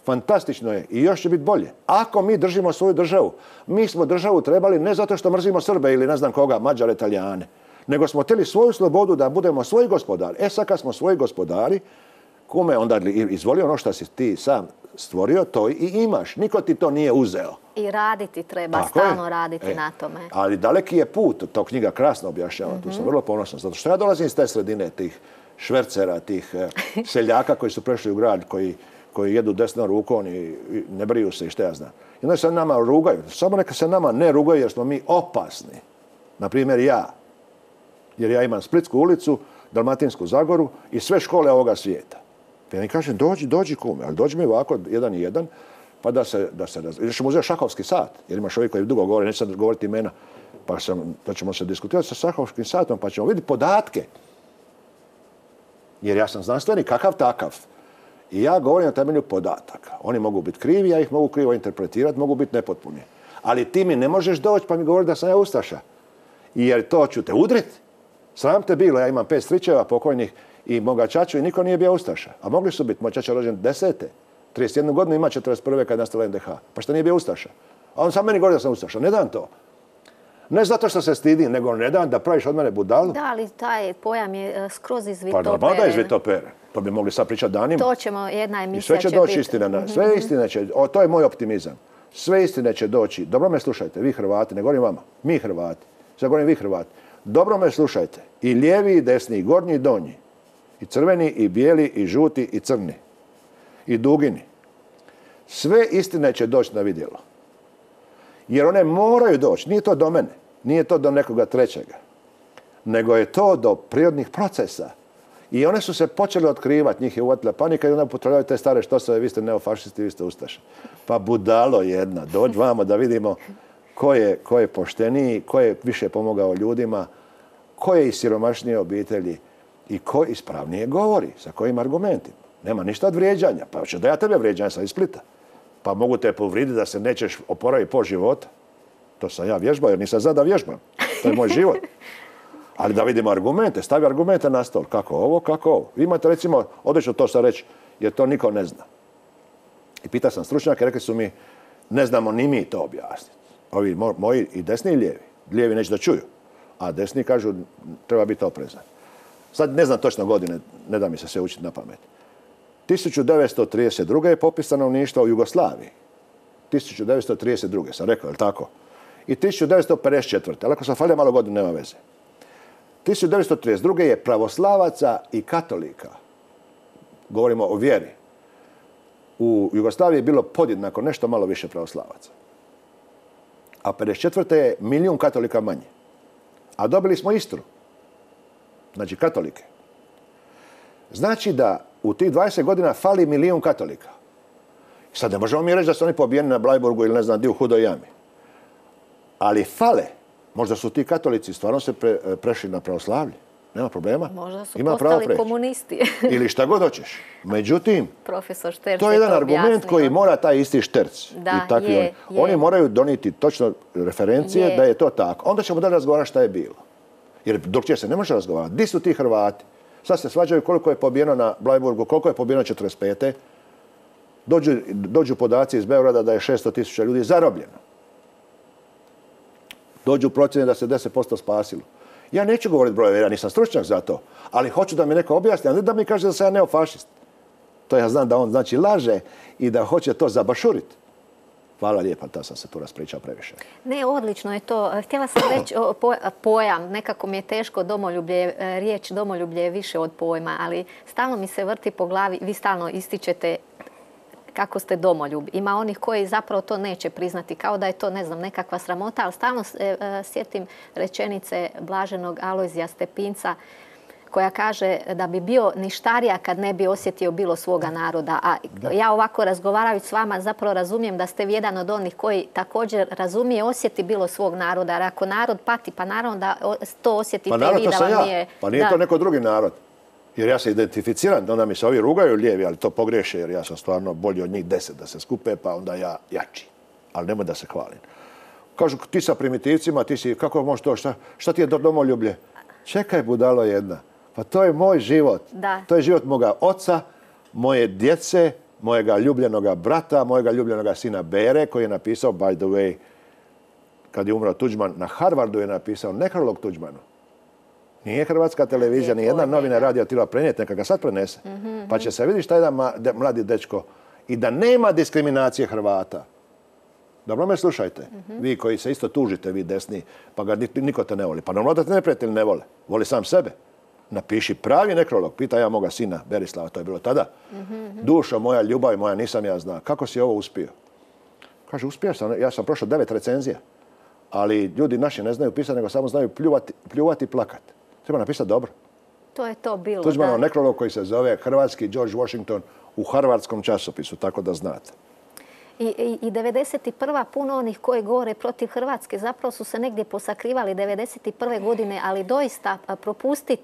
Fantastično je i još će biti bolje. Ako mi držimo svoju državu, mi smo državu trebali ne zato što mrzimo Srbe ili ne znam koga, Mađare, Italijane, nego smo htjeli svoju slobodu da budemo svoji gospodari. E sad kad smo svoji gospodari, kume onda izvoli ono što si ti sam stvorio, to i imaš. Niko ti to nije uzeo. I raditi treba, tako stalno je. raditi e, na tome. Ali daleki je put, to knjiga krasno objašnjava, mm-hmm. Tu sam vrlo ponosan. Zato što ja dolazim iz te sredine, tih švercera, tih seljaka koji su prešli u grad, koji, koji jedu desnom rukom i ne briju se i što ja znam. I onda se nama rugaju. Samo neka se nama ne rugaju jer smo mi opasni. Naprimjer ja. Jer ja imam Splitsku ulicu, Dalmatinsku Zagoru i sve škole ovoga svijeta. Pa ja mi kažem, dođi, dođi kume, ali dođi mi ovako jedan i jedan, pa da se, da se raz... Ili ćemo uzeti šahovski sat, jer imaš ovi koji dugo govore, neću sad govoriti imena, pa, sam, pa ćemo se diskutirati sa šahovskim satom, pa ćemo vidjeti podatke. Jer ja sam znanstvenik, kakav takav. I ja govorim na temelju podataka. Oni mogu biti krivi, ja ih mogu krivo interpretirati, mogu biti nepotpuni. Ali ti mi ne možeš doći pa mi govori da sam ja ustaša. Jer to ću te udriti. Sram te bilo, ja imam pet stričeva pokojnih i moga čaču i niko nije bio ustaša. A mogli su biti, moj čača rođen desete. trideset jednu godinu ima četrdeset prve kad je nastala en de ha. Pa što nije bio ustaša? A on sam meni govori da sam ustaša. Ne dam to. Ne zato što se stidim, nego ne dam da praviš od mene budalu. Da, ali taj pojam je skroz izvitoperen. Pa normalno da je izvitoperen. To bi mogli sad pričati danima. To ćemo, jedna emisija će biti. I sve će doći istina. Na, sve istine će, o, to je moj optimizam. Sve istine će doći. Dobro me slušajte, vi Hrvati, ne govorim vama. Mi Hrvati. Sad govorim vi Hrvati. Dobro me slušajte. I lijevi i desni, i gornji i donji. I crveni, i bijeli, i žuti, i crni. I dugini. Sve istine će doći na vidjelo. Jer one moraju doći. Nije to do mene. Nije to do nekoga trećega. Nego je to do prirodnih procesa. I one su se počele otkrivati. Njih je uvatila panika i onda potrebljaju te stare štosove. Vi ste neofašisti, vi ste ustaše. Pa budalo jedna. Dođi vamo da vidimo ko je, ko je pošteniji, ko je više pomogao ljudima, ko je iz siromašnije obitelji i ko ispravnije govori, sa kojim argumentima. Nema ništa od vrijeđanja. Pa hoće da ja tebe vrijeđam, sam iz Splita. Pa mogu te povriditi da se nećeš oporaviti po života. To sam ja vježbao jer nisam zna da vježbam. To je moj život. Ali da vidimo argumente, stavi argumente na stol. Kako ovo, kako ovo. Vi imate recimo, odlično to sad reći, jer to niko ne zna. I pitao sam stručnjake, rekli su mi, ne znamo ni mi to objasniti. Ovi moji i desni i lijevi. Lijevi neće da čuju, a desni kažu treba biti oprezan. Sad ne znam točno godine, ne da mi se sve učiti na pamet. tisuću devetsto trideset druge je popis stanovništva u Jugoslaviji. tisuću devetsto trideset druge sam rekao, je li tako? I tisuću devetsto pedeset četvrte ali ako sam falio malo godinu, nema veze. tisuću devetsto trideset druge je pravoslavaca i katolika. Govorimo o vjeri. U Jugoslaviji je bilo podjednako nešto malo više pravoslavaca. A pedeset četvrte je milijun katolika manje. A dobili smo Istru. Znači katolike. Znači da u tih dvadeset godina fali milijun katolika. Sad ne možemo mi reći da su oni pobijeni na Blajburgu ili ne znam di u Hudoj jami. Ali fale. Možda su ti katolici stvarno se pre, prešli na pravoslavlje. Nema problema. Možda su Ima postali komunisti. Ili šta god hoćeš. Međutim, Profesor Šterc to je jedan argument objasnio. koji mora taj isti Šterc. Da, i takvi je, oni. je. Oni moraju donijeti točno referencije Je. da je to tako. Onda ćemo da razgovarati šta je bilo. Jer drugčije se ne može razgovarati. Di su ti Hrvati? Sad se svađaju koliko je pobijeno na Blajburgu, koliko je pobijeno četrdeset pete Dođu, dođu podaci iz Beograda da je šesto tisuća ljudi zarobljeno. Dođu procjene da se deset posto spasilo. Ja neću govoriti brojeve, ja nisam stručnjak za to, ali hoću da mi neko objasni, a ne da mi kaže da sam ja neofašist. To ja znam da on znači laže i da hoće to zabašuriti. Hvala lijepa, da sam se tu raspričao previše. Ne, odlično je to. Htjela sam reći pojam, nekako mi je teško domoljublje, riječ domoljublje je više od pojma, ali stalno mi se vrti po glavi, vi stalno ističete kako ste domoljub. Ima onih koji zapravo to neće priznati, kao da je to, ne znam, nekakva sramota, ali stalno e, sjetim rečenice blaženog Alojzija Stepinca koja kaže da bi bio ništarija kad ne bi osjetio bilo svoga naroda. A da. Ja ovako razgovarajući s vama zapravo razumijem da ste vi jedan od onih koji također razumije, osjeti bilo svog naroda. Jer ako narod pati, pa naravno da to osjetite pa narod, i vi da vam ja. nije... Pa nije da. to neko drugi narod. Jer ja se identificiram, onda mi se ovi rugaju lijevi, ali to pogreše jer ja sam stvarno bolji od njih deset da se skupe, pa onda ja jači. Ali nemoj da se hvalim. Kažu, ti sa primitivcima, ti si, kako možeš to, šta, šta ti je domoljublje? Čekaj, budalo jedna. Pa to je moj život. Da. To je život moga oca, moje djece, mojega ljubljenoga brata, mojega ljubljenoga sina Bere, koji je napisao, by the way, kad je umro Tuđman, na Harvardu je napisao nekrolog Tuđmanu. Nije hrvatska televizija, ni jedna novina radija tila prenijeti, neka ga sad prenese. Mm-hmm. Pa će se vidjeti šta je jedan mladi dečko. I da nema diskriminacije Hrvata. Dobro me slušajte. Mm-hmm. Vi koji se isto tužite, vi desni, pa ga niko te ne voli. Pa normalno da te neprijatelji ne vole. Voli sam sebe. Napiši pravi nekrolog. Pita ja moga sina Berislava, to je bilo tada. Mm-hmm. Dušo moja, ljubav moja, nisam ja zna. Kako si ovo uspio? Kaže, uspio sam. Ja sam prošao devet recenzija. Ali ljudi naši ne znaju pisati, nego samo znaju pljuvati, pljuvati i plakati. Treba napisati dobro. To je to bilo. Tuđmanov nekrolog koji se zove Hrvatski George Washington u harvardskom časopisu, tako da znate. I, i, i devedeset prva puno onih koji govore protiv Hrvatske zapravo su se negdje posakrivali devedeset prve godine, ali doista propustiti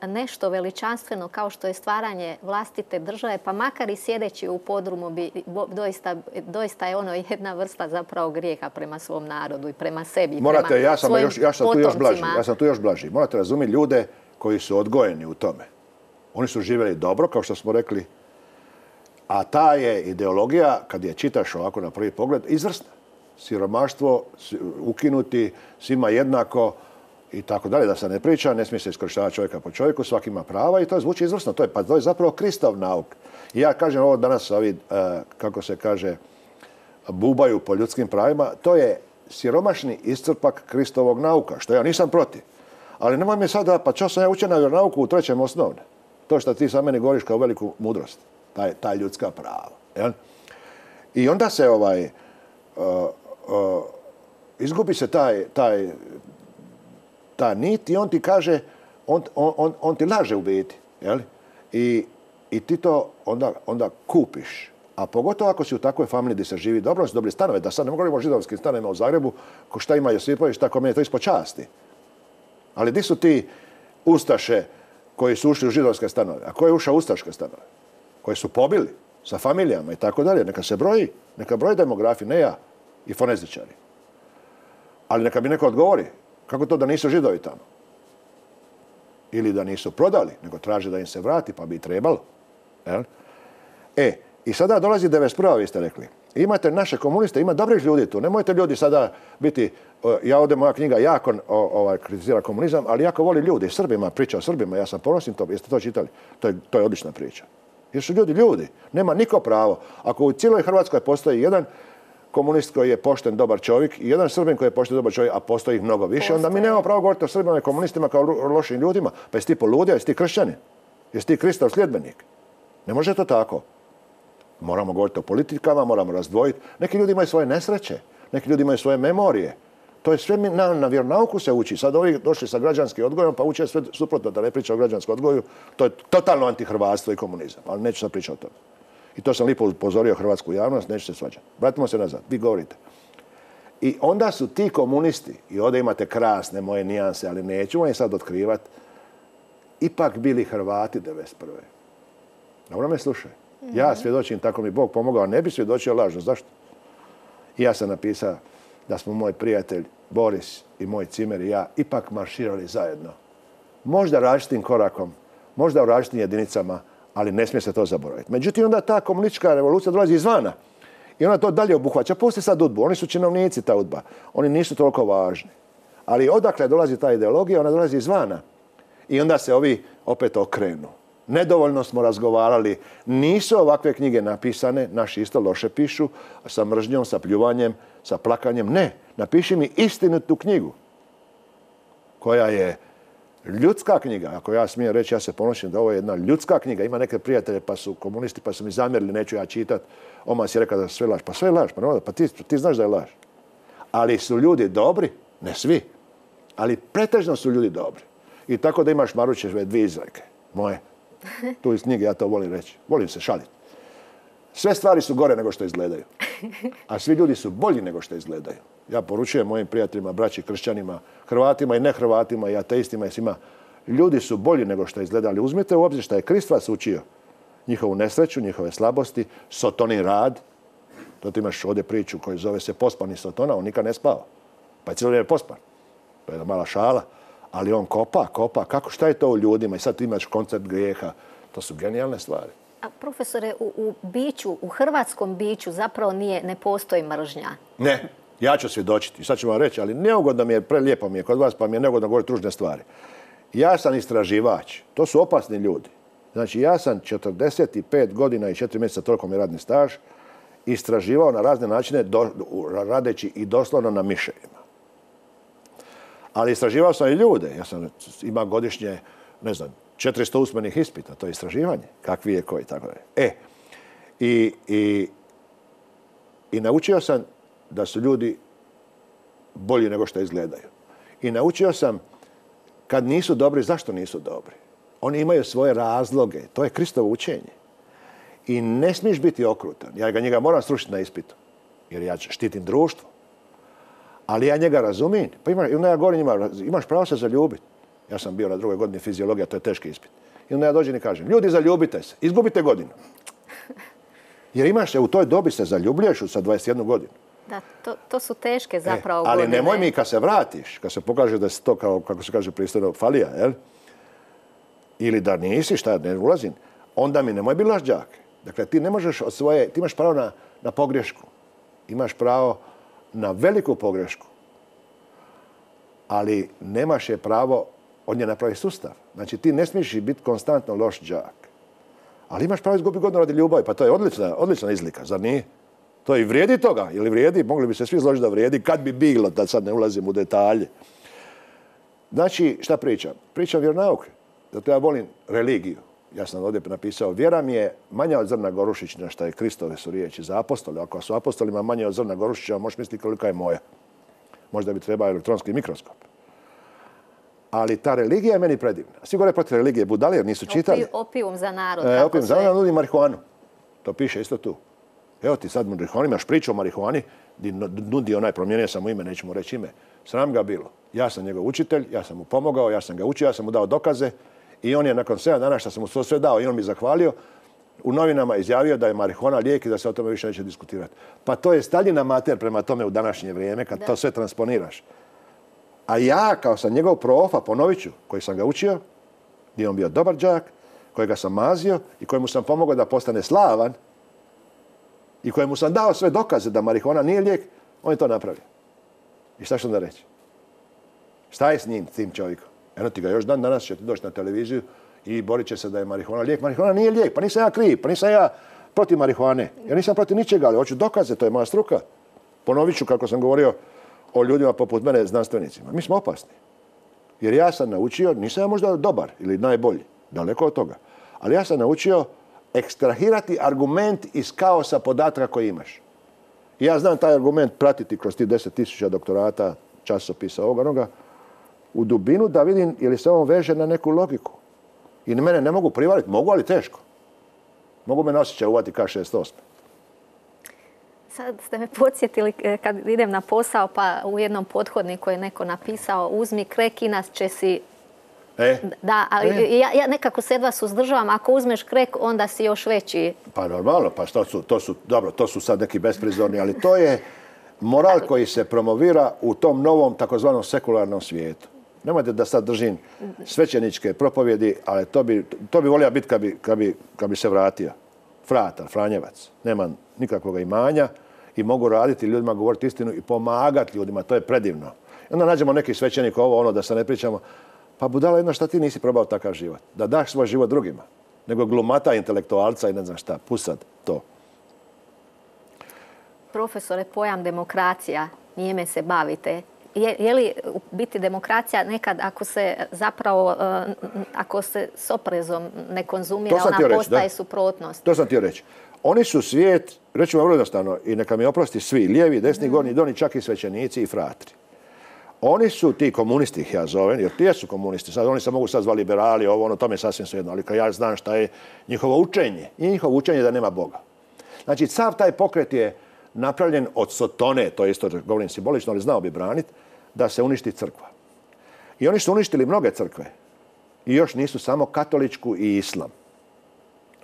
nešto veličanstveno kao što je stvaranje vlastite države, pa makar i sjedeći u podrumu, bi, doista, doista je ono jedna vrsta zapravo grijeha prema svom narodu i prema sebi. Morate, prema ja sam, još, ja, sam tu još blaži, ja sam tu još blaži. blaži. Morate razumjeti ljude koji su odgojeni u tome. Oni su živjeli dobro, kao što smo rekli, a ta je ideologija, kad je čitaš ovako na prvi pogled, izvrsna. Siromaštvo, ukinuti, svima jednako i tako dalje, da se ne priča, ne smije se iskorištavati čovjeka po čovjeku, svaki ima prava i to zvuči izvrsno. To je, pa to je zapravo Kristov nauk. I ja kažem ovo danas, ovi, kako se kaže, bubaju po ljudskim pravima, to je siromašni iscrpak Kristovog nauka, što ja nisam protiv. Ali nemoj mi sada, pa čo sam ja učio na vjeronauku u trećem osnovne. To što ti sa meni govoriš kao veliku mudrost. Taj, taj ljudska prava. Jel? I onda se ovaj, uh, uh, izgubi se taj, taj, ta nit i on ti kaže, on, on, on ti laže u biti. Jel? I, i ti to onda, onda kupiš. A pogotovo ako si u takvoj familiji gdje se živi dobro, su dobri stanove, da sad ne govorimo o židovskim stanovima u Zagrebu, ko šta ima Josipović, tako meni je to ispod časti. Ali di su ti ustaše koji su ušli u židovske stanove? A ko je ušao u ustaške stanove? Koji su pobili sa familijama i tako dalje. Neka se broji, neka broji demografi, ne ja i fonezičari. Ali neka mi neko odgovori. Kako to da nisu Židovi tamo? Ili da nisu prodali, nego traže da im se vrati, pa bi i trebalo. Jel? E, i sada dolazi devedeset prva vi ste rekli. Imate naše komuniste, ima dobrih ljudi tu. Nemojte ljudi sada biti, ja ovdje moja knjiga jako ovaj, kritizira komunizam, ali jako voli ljudi. Srbima, priča o Srbima, ja sam ponosim to, jeste to čitali? To je, to je odlična priča. Jer su ljudi ljudi, nema niko pravo. Ako u cijeloj Hrvatskoj postoji jedan komunist koji je pošten, dobar čovjek i jedan Srbin koji je pošten, dobar čovjek, a postoji ih mnogo više, onda mi nemamo pravo govoriti o Srbima i komunistima kao lošim ljudima. Pa jesi ti poludio, jesi ti kršćanin, jesi ti Kristov sljedbenik. Ne može to tako. Moramo govoriti o politikama, moramo razdvojiti. Neki ljudi imaju svoje nesreće, neki ljudi imaju svoje memorije. To je sve na, na vjeronauku se uči. Sad ovi došli sa građanskim odgojom, pa uče sve suprotno da ne priča o građanskom odgoju. To je totalno antihrvatstvo i komunizam, ali neću sad pričati o tome. I to sam lijepo upozorio hrvatsku javnost, neću se svađati. Vratimo se nazad, vi govorite. I onda su ti komunisti, i ovdje imate krasne moje nijanse, ali neću vam je sad otkrivati, ipak bili Hrvati devedeset prve. Dobro me slušaj. Ja svjedočim, tako mi Bog pomogao, ne bi svjedočio lažno. Zašto? I ja sam napisao da smo moj prijatelj Boris i moj Cimer i ja ipak marširali zajedno. Možda različitim korakom, možda u različitim jedinicama, ali ne smije se to zaboraviti. Međutim, onda ta komunistička revolucija dolazi izvana i ona to dalje obuhvaća. Pusti sad udbu, oni su činovnici ta udba, oni nisu toliko važni. Ali odakle dolazi ta ideologija, ona dolazi izvana. I onda se ovi opet okrenu. Nedovoljno smo razgovarali, nisu ovakve knjige napisane, naši isto loše pišu, sa mržnjom, sa pljuvanjem, sa plakanjem. Ne, napiši mi istinitu knjigu, koja je ljudska knjiga. Ako ja smijem reći, ja se ponosim da ovo je jedna ljudska knjiga. Ima neke prijatelje pa su komunisti, pa su mi zamjerili, neću ja čitat. Oma si rekao da sve laž. Pa sve je laž, pa, ne, pa ti, ti znaš da je laž. Ali su ljudi dobri, ne svi, ali pretežno su ljudi dobri. I tako da imaš Maručeve dvije izreke, moje. Tu iz knjige ja to volim reći. Volim se šaliti. Sve stvari su gore nego što izgledaju. A svi ljudi su bolji nego što izgledaju. Ja poručujem mojim prijateljima, braći, kršćanima, Hrvatima i nehrvatima i ateistima i svima. Ljudi su bolji nego što izgledali. Uzmite u obzir što je Krist vas učio. Njihovu nesreću, njihove slabosti, Sotonin rad. To ti imaš ovdje priču koju zove se Pospani Sotona. On nikad ne spava. Pa je cijelo vrijeme pospan. To je jedna mala šala. Ali on kopa, kopa. Kako, šta je to u ljudima? I sad ti imaš koncept grijeha. To su genijalne stvari. A profesore, u, u biću, u hrvatskom biću zapravo nije, ne postoji mržnja. Ne, ja ću svjedočiti. I sad ću vam reći, ali neugodno mi je, prelijepo mi je kod vas, pa mi je neugodno govoriti ružne stvari. Ja sam istraživač. To su opasni ljudi. Znači, ja sam četrdeset pet godina i četiri mjeseca, toliko mi je radni staž, istraživao na razne načine, do, radeći i doslovno na miševima. Ali istraživao sam i ljude. Ja sam imao godišnje, ne znam, četiristo usmenih ispita. To je istraživanje. Kakvi je koji, tako dalje. E, i, i, i naučio sam da su ljudi bolji nego što izgledaju. I naučio sam kad nisu dobri, zašto nisu dobri. Oni imaju svoje razloge. To je Kristovo učenje. I ne smiješ biti okrutan. Ja ga njega moram srušiti na ispitu. Jer ja štitim društvo. Ali ja njega razumijem. Pa ima, i onda ja govorim njima, imaš pravo se zaljubiti. Ja sam bio na drugoj godini fiziologija, to je teški ispit. I onda ja dođem i kažem, ljudi, zaljubite se, izgubite godinu. Jer imaš se, u toj dobi se zaljubljuješ sa dvadeset jednu godinu. Da, to, to su teške zapravo e, ali godine. nemoj mi kad se vratiš, kad se pokaže da si to, kao, kako se kaže pristojno, falija, jel? Ili da nisi, šta, ne ulazim, onda mi nemoj biti lažđak. Dakle, ti ne možeš od svoje, ti imaš pravo na, na pogrešku. Imaš pravo na veliku pogrešku. Ali nemaš je pravo od nje napraviti sustav. Znači, ti ne smiješ biti konstantno loš đak. Ali imaš pravo izgubiti godinu radi ljubavi. Pa to je odlična, odlična izlika, zar nije? To i vrijedi toga. Ili vrijedi? Mogli bi se svi složiti da vrijedi. Kad bi bilo, da sad ne ulazim u detalje. Znači, šta pričam? Pričam vjeronauke. Zato ja volim religiju. Ja sam ovdje napisao, vjera mi je manja od zrna gorušična, šta je Kristove su riječi za apostole. Ako su apostolima manje od zrna gorušića, možeš misliti kolika je moja. Možda bi trebao elektronski mikroskop. Ali ta religija je meni predivna. Svi gore protiv religije budali jer nisu čitali. Opijum za narod. E, opijum za narod nudi marihuanu. To piše isto tu. Evo ti sad marihuani, imaš priču o marihuani, gdje nudi onaj, promijenio sam mu ime, nećemo reći ime. Sram ga bilo. Ja sam njegov učitelj, ja sam mu pomogao, ja sam ga učio, ja sam mu dao dokaze i on je nakon sedam dana što sam mu to sve dao i on mi zahvalio, u novinama izjavio da je marihuana lijek i da se o tome više neće diskutirati. Pa to je Staljina mater prema tome u današnje vrijeme, kad da. to sve transponiraš. A ja, kao sam njegov profa, ponovit ću, koji sam ga učio, gdje je on bio dobar đak, kojega sam mazio i kojemu sam pomogao da postane slavan i kojemu sam dao sve dokaze da marihuana nije lijek, on je to napravio. I šta ću onda reći? Šta je s njim, s tim čovjekom? Eno ti ga još dan danas će ti doći na televiziju i borit će se da je marihuana lijek. Marihuana nije lijek, pa nisam ja kriv, pa nisam ja protiv marihuane. Ja nisam protiv ničega, ali hoću dokaze, to je moja struka. Ponovit ću kako sam govorio o ljudima poput mene, znanstvenicima. Mi smo opasni. Jer ja sam naučio, nisam ja možda dobar ili najbolji, daleko od toga, ali ja sam naučio ekstrahirati argument iz kaosa podataka koji imaš. I ja znam taj argument pratiti kroz ti deset tisuća doktorata, časopisa, ovoga, onoga, u dubinu da vidim je li se on veže na neku logiku. I mene ne mogu privariti, mogu, ali teško. Mogu me osjećaj uvati ka šezdeset osam. Sad ste me podsjetili kad idem na posao, pa u jednom pothodniku je neko napisao uzmi krek, inače si... E? Da, ali e? ja, ja nekako se jedva suzdržavam. Ako uzmeš krek, onda si još veći. Pa normalno, pa to su, to su, dobro, to su sad neki besprizorni, ali to je moral koji se promovira u tom novom takozvanom sekularnom svijetu. Nemojte da sad držim svećeničke propovjedi, ali to bi, to bi volio biti kad bi, kad bi, kad bi se vratio. Fratar, Franjevac. Nema nikakvog imanja i mogu raditi ljudima, govoriti istinu i pomagati ljudima. To je predivno. I onda nađemo neki svećenik ovo, ono, da se ne pričamo. Pa budala jedna, šta ti nisi probao takav život? Da daš svoj život drugima. Nego glumata intelektualca i ne znam šta. Pusad to. Profesore, pojam demokracija, njime se bavite. Je, je li biti demokracija nekad ako se zapravo, ako se s oprezom ne konzumira, ona reći, postaje da? Suprotnost? To sam htio reći. Oni su svijet, reću vam vrlo jednostavno, i neka mi oprosti svi, lijevi, desni, mm. gornji, doni, čak i svećenici i fratri. Oni su ti komunisti, ih ja zovem, jer ti su komunisti. Sad, oni se mogu sad zvali liberali, ovo, ono, to mi je sasvim svejedno. Ali kad ja znam šta je njihovo učenje, i njihovo učenje da nema Boga. Znači, sav taj pokret je napravljen od sotone, to je isto govorim simbolično, ali znao bi braniti, da se uništi crkva. I oni su uništili mnoge crkve. I još nisu samo katoličku i islam.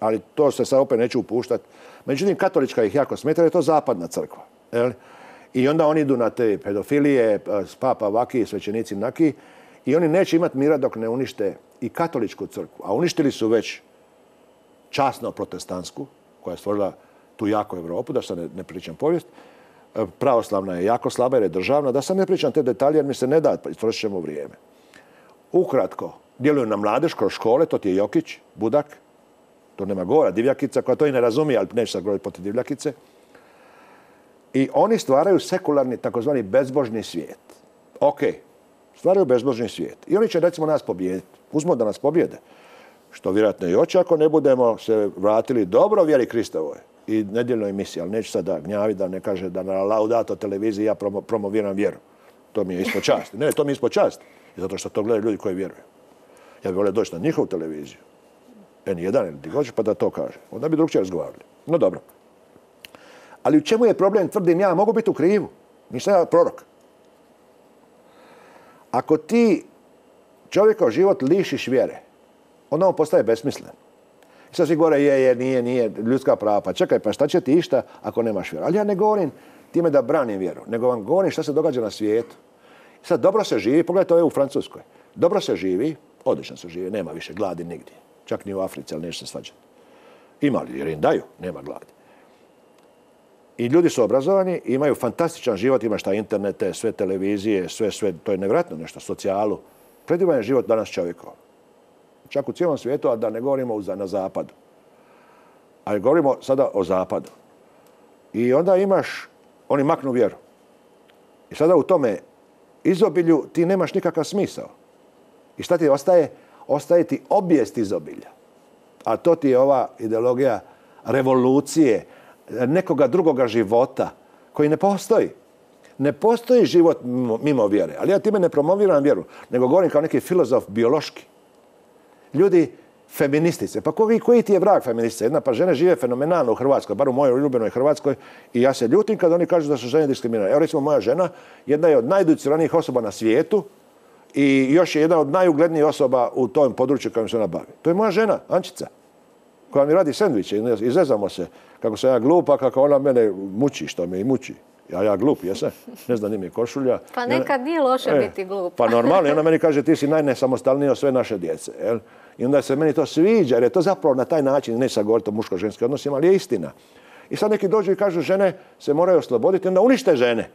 Ali to se sad opet neću upuštati. Međutim, katolička ih jako smeta jer je to zapadna crkva. Jel? I onda oni idu na te pedofilije, papa vaki, svećenici naki, i oni neće imati mira dok ne unište i katoličku crkvu. A uništili su već časno protestantsku, koja je stvorila tu jako Europu, da se ne, ne pričam povijest. Pravoslavna je jako slaba jer je državna. Da sam ne pričam te detalje jer mi se ne da, istrošit ćemo vrijeme. Ukratko, djeluju na mladež kroz škole, to ti je Jokić, Budak, to nema govora, Divljakica, koja to i ne razumije, ali neće sad govoriti protiv Divljakice. I oni stvaraju sekularni, takozvani bezbožni svijet. Ok, stvaraju bezbožni svijet. I oni će recimo nas pobijediti. Uzmo da nas pobijede. Što vjerojatno i hoće ako ne budemo se vratili dobro vjeri Kristovoj i nedjeljnoj emisiji, ali neću sad da gnjavi da ne kaže da na Laudato televiziji ja promo, promoviram vjeru. To mi je ispod časti. Ne, to mi je ispod časti. Zato što to gledaju ljudi koji vjeruju. Ja bih volio doći na njihovu televiziju. en jedan ili ti hoćeš pa da to kaže. Onda bi drugčije razgovarali. No dobro. Ali u čemu je problem? Tvrdim ja, mogu biti u krivu. Nisam ja prorok. Ako ti čovjekov život lišiš vjere, onda on postaje besmislen. I sad svi govore, je, je, nije, nije, ljudska prava. Pa čekaj, pa šta će ti išta ako nemaš vjeru? Ali ja ne govorim time da branim vjeru, nego vam govorim šta se događa na svijetu. I sad dobro se živi, pogledajte ovo u Francuskoj. Dobro se živi, odlično se živi, nema više gladi nigdje. Čak ni u Africi, ali neće se svađati. Ima li, jer im daju, nema gladi. I ljudi su obrazovani, imaju fantastičan život, imaš taj internete, sve televizije, sve, sve, to je nevjerojatno nešto, socijalu. Predivan je život danas čovjekov. Čak u cijelom svijetu, a da ne govorimo na zapadu. Ali govorimo sada o zapadu. I onda imaš, oni maknu vjeru. I sada u tome izobilju ti nemaš nikakav smisao. I šta ti ostaje? Ostaje ti obijest izobilja. A to ti je ova ideologija revolucije, nekoga drugoga života koji ne postoji. Ne postoji život mimo, mimo vjere. Ali ja time ne promoviram vjeru, nego govorim kao neki filozof biološki. Ljudi, feministice. Pa koji, koji ti je vrag feministice? Jedna, pa žene žive fenomenalno u Hrvatskoj, bar u mojoj ljubenoj Hrvatskoj, i ja se ljutim kad oni kažu da su žene diskriminirane. Evo recimo moja žena, jedna je od najeduciranijih osoba na svijetu i još je jedna od najuglednijih osoba u tom području kojim se ona bavi. To je moja žena, Ančica, koja mi radi sendviče. Izrezamo se kako sam ja glupa, kako ona mene muči, što me i muči. Ja, ja glup, jesam. Ne znam, nije košulja. Pa nekad nije loše e, biti glup. Pa normalno. I ona meni kaže, ti si najnesamostalniji od sve naše djece. Jel? I onda se meni to sviđa, jer je to zapravo na taj način, ne sad govoriti o muško-ženskim odnosima, ali je istina. I sad neki dođu i kažu, žene se moraju osloboditi, onda unište žene.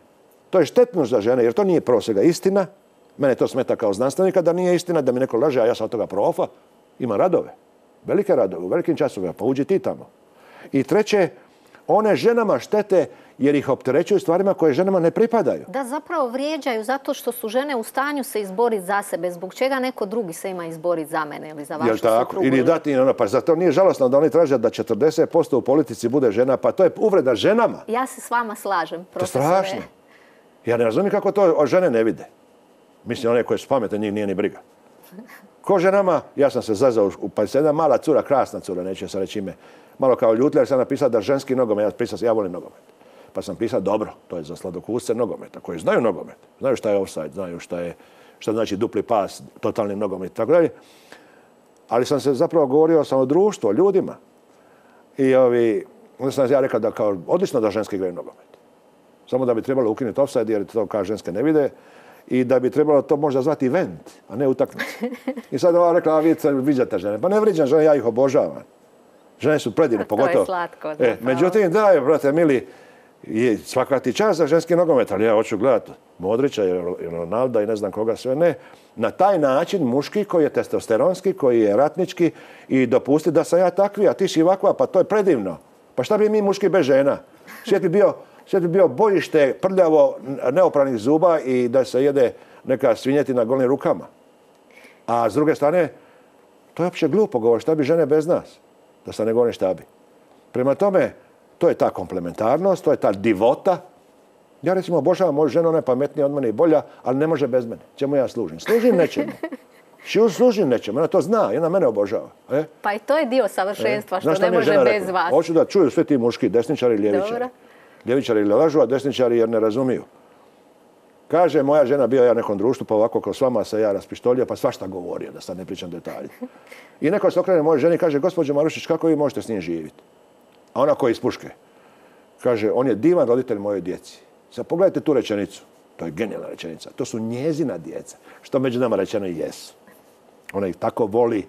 To je štetnost za žene, jer to nije prvo svega istina. Mene to smeta kao znanstvenika da nije istina, da mi neko laže, a ja sam od toga profa. Ima radove. Velike radove, u velikim časovima, pa uđi ti tamo. I treće, one ženama štete jer ih opterećuju stvarima koje ženama ne pripadaju. Da, zapravo vrijeđaju zato što su žene u stanju se izboriti za sebe. Zbog čega neko drugi se ima izboriti za mene ili za vašu suprugu? Ili dati, ono, pa zato nije žalosno da oni traže da četrdeset posto u politici bude žena, pa to je uvreda ženama. Ja se s vama slažem, profesore. To je strašno. Ja ne razumijem kako to žene ne vide. Mislim, one koje su pametne, njih nije ni briga. Ko ženama, ja sam se zazao, pa se jedna mala cura, krasna cura, neću sam reći ime, malo kao ljutila, jer sam napisao da ženski nogomet, ja, pisao, ja volim nogomet. Pa sam pisao, dobro, to je za sladokusce nogometa, koji znaju nogomet, znaju šta je offside, znaju šta je, šta znači dupli pas, totalni nogomet i tako dalje. Ali sam se zapravo govorio sam o društvu, o ljudima. I ovi, onda sam ja rekao da kao odlično da ženski igraju nogomet. Samo da bi trebalo ukinuti offside, jer to kao ženske ne vide. I da bi trebalo to možda zvati event, a ne utakmicu. I sad ova rekla, a vi viđate žene. Pa ne vriđam žene, ja ih obožavam. Žene su predivne, pogotovo. To je slatko. E, međutim, da, brate, mili, svaka ti čast za ženski nogomet, ali ja hoću gledati Modrića i Ronalda i ne znam koga sve ne. Na taj način muški koji je testosteronski, koji je ratnički i dopusti da sam ja takvi, a ti si ovakva, pa to je predivno. Pa šta bi mi muški bez žena? Svijet bi bio... Sve bi bio bojište, prljavo, neopranih zuba i da se jede neka svinjetina golim rukama. A s druge strane, to je uopće glupo govor, šta bi žene bez nas? Da se ne govori šta bi. Prema tome, to je ta komplementarnost, to je ta divota. Ja recimo obožavam moju ženu, ona je pametnija od mene i bolja, ali ne može bez mene. Čemu ja služim? Služim nečemu. Šiu služim nečemu, ona to zna i ona mene obožava. E? Pa i to je dio savršenstva, e? što ne može bez rekla? vas. Hoću da čuju sve ti muški, desničari i ljevičari. Dobro. Ljevičari ili lažu, a desničari jer ne razumiju. Kaže, moja žena bio ja nekom društvu, pa ovako kao s vama se ja raspištolio, pa svašta govorio, da sad ne pričam detalje. I neko se okrene mojoj ženi i kaže, gospođo Marušić, kako vi možete s njim živjeti? A ona koja iz puške. Kaže, on je divan roditelj mojoj djeci. Sad pogledajte tu rečenicu. To je genijalna rečenica. To su njezina djeca. Što među nama rečeno i jesu. Ona ih tako voli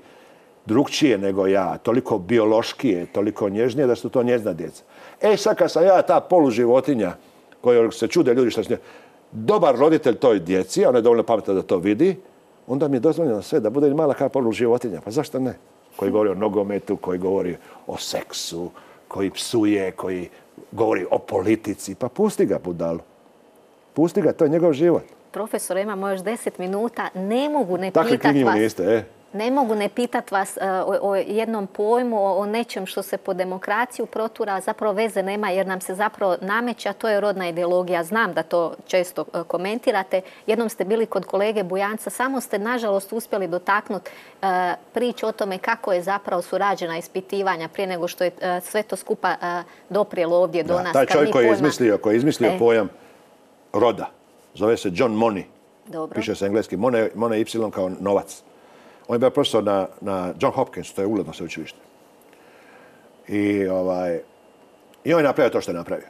drugčije nego ja, toliko biološkije, toliko nježnije da su to njezina djeca. E sad kad sam ja ta poluživotinja koja se čude ljudi što se dobar roditelj toj djeci, a ona je dovoljno pametna da to vidi, onda mi je dozvoljeno sve da bude mala kao poluživotinja. Pa zašto ne? Koji govori o nogometu, koji govori o seksu, koji psuje, koji govori o politici. Pa pusti ga, budalu. Pusti ga, to je njegov život. Profesore, imamo još deset minuta. Ne mogu ne pitat vas... Takvi knjigu niste, e? Ne mogu ne pitat vas uh, o, o jednom pojmu, o, o nečem što se po demokraciju protura, a zapravo veze nema jer nam se zapravo nameće, a to je rodna ideologija. Znam da to često uh, komentirate. Jednom ste bili kod kolege Bujanca, samo ste nažalost uspjeli dotaknuti uh, priču o tome kako je zapravo su rađena ispitivanja prije nego što je uh, sve to skupa uh, doprijelo ovdje do da, nas. Taj čovjek koji je izmislio, koji je izmislio e. pojam roda, zove se John Money. Dobro. Piše se engleski, Money, Money Y kao novac. On je bio profesor na, na John Hopkins, to je ugledno sveučilište. I, ovaj, I on je napravio to što je napravio.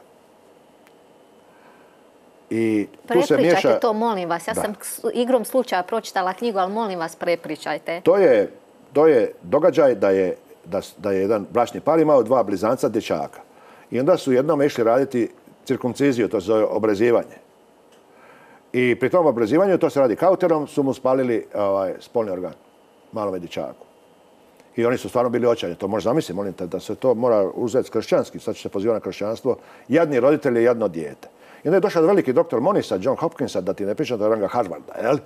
I tu se miješa... Prepričajte to, molim vas. Ja da. sam igrom slučaja pročitala knjigu, ali molim vas, prepričajte. To je, to je događaj da je, da, da je jedan bračni par imao dva blizanca dječaka. I onda su jednom išli raditi cirkumciziju, to se zove obrezivanje. I pri tom obrezivanju, to se radi kauterom, su mu spalili ovaj, spolni organ. Malome dječaku. I oni su stvarno bili očajni. To možda zamisliti, molim te, da se to mora uzeti kršćanski. Sad će se pozivati na kršćanstvo. Jadni roditelji i jadno dijete. I onda je došao veliki doktor Monisa, John Hopkinsa, da ti ne pričam, da je ranga Harvarda, jel?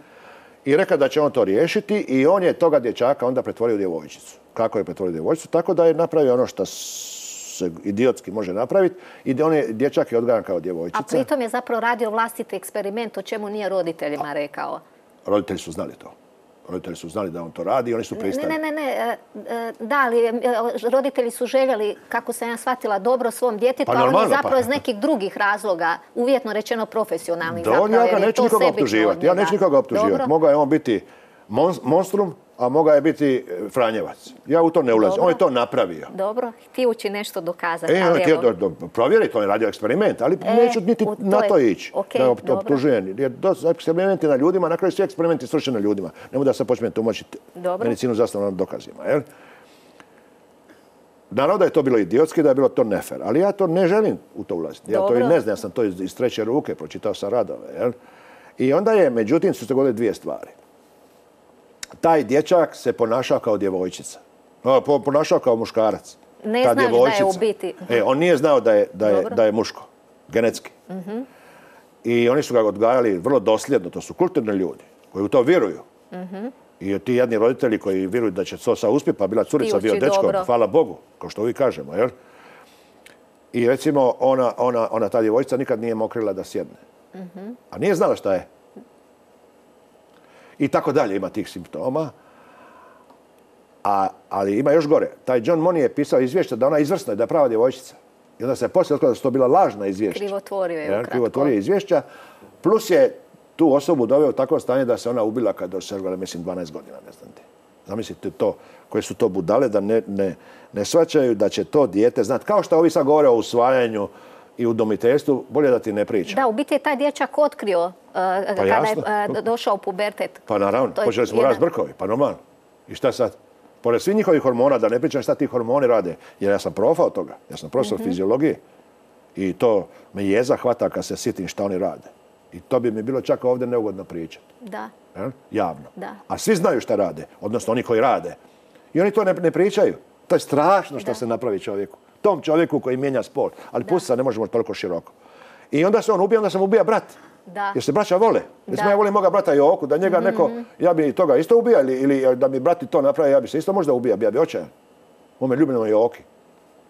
I rekao da će on to riješiti i on je toga dječaka onda pretvorio u djevojčicu. Kako je pretvorio u djevojčicu? Tako da je napravio ono što se idiotski može napraviti i on je dječak je odgajan kao djevojčica. A pritom je zapravo radio vlastiti eksperiment, o čemu nije roditeljima rekao. Roditelji su znali to. Roditelji su znali da on to radi i oni su pristali. Ne, ne, ne, ne. Da, ali roditelji su željeli, kako sam ja shvatila, dobro svom djetetu, pa a oni zapravo pa. iz nekih drugih razloga, uvjetno rečeno profesionalnih Do, zapravo. Ja ga neću nikoga optuživati. Ja neću nikoga optuživati. Mogao je on biti monstrum, a mogao je biti Franjevac. Ja u to ne ulazim. On je to napravio. Dobro, htijući nešto dokazati. E, on je htio provjeriti, on je radio eksperiment, ali neću niti na to ići. Da optužujem. Jer eksperimenti na ljudima, na kraju svi eksperimenti svršeni na ljudima. Ne mogu da se počne tumačiti medicinu zasnovano na dokazima. Naravno da je to bilo idiotski, da je bilo to nefer, ali ja to ne želim u to ulaziti. Ja to i ne znam, ja sam to iz treće ruke, pročitao sam radove. I onda je, međutim, su se dogodile dvije stvari. Taj dječak se ponašao kao djevojčica. Ponašao kao muškarac. Ne znaš da je u biti. E, on nije znao da je, da je, da je muško, genetski. Uh-huh. I oni su ga odgajali vrlo dosljedno, to su kulturni ljudi koji u to vjeruju. Uh-huh. I ti jedni roditelji koji vjeruju da će to sad uspjeti, pa bila curica, bio dečko, hvala Bogu, kao što uvijek kažemo, jel? I recimo, ona, ona, ona ta djevojčica nikad nije mokrila da sjedne. Uh-huh. A nije znala šta je. I tako dalje ima tih simptoma. A, ali ima još gore. Taj John Money je pisao izvješće da ona izvrsna i da je prava djevojčica. I onda se poslije otkrilo da su to bila lažna izvješća. Krivotvorio je ukratko. Krivotvorio je izvješća. Plus je tu osobu doveo u takvo stanje da se ona ubila kad dosegla, mislim, dvanaest godina. Ne znam ti. Zamislite to, koje su to budale da ne, ne, ne shvaćaju da će to dijete znati. Kao što ovi sad govore o usvajanju i udomiteljstvu, bolje da ti ne pričam. Da, u biti je taj dječak otkrio uh, pa kada jasno. je uh, došao u pubertet. Pa naravno, počeli smo jedan... rast brkovi, pa normalno. I šta sad? Pored svih njihovih hormona, da ne pričam šta ti hormoni rade, jer ja sam profa od toga, ja sam profesor mm-hmm. fiziologije i to me jeza hvata kad se sjetim šta oni rade. I to bi mi bilo čak ovdje neugodno pričati. Da. E? Javno. Da. A svi znaju šta rade, odnosno oni koji rade. I oni to ne, ne pričaju. To je strašno što da. se napravi čovjeku. Tom čovjeku koji mijenja spol. Ali pusti ne možemo toliko široko. I onda se on ubija, onda sam ubija brat. Da. Jer se braća vole. Jer ja volim moga brata Joku, da njega mm-hmm. neko, ja bi toga isto ubija ili, ili da mi brati to napravi, ja bi se isto možda ubija, ja bi očajan. On me ljubim Joki.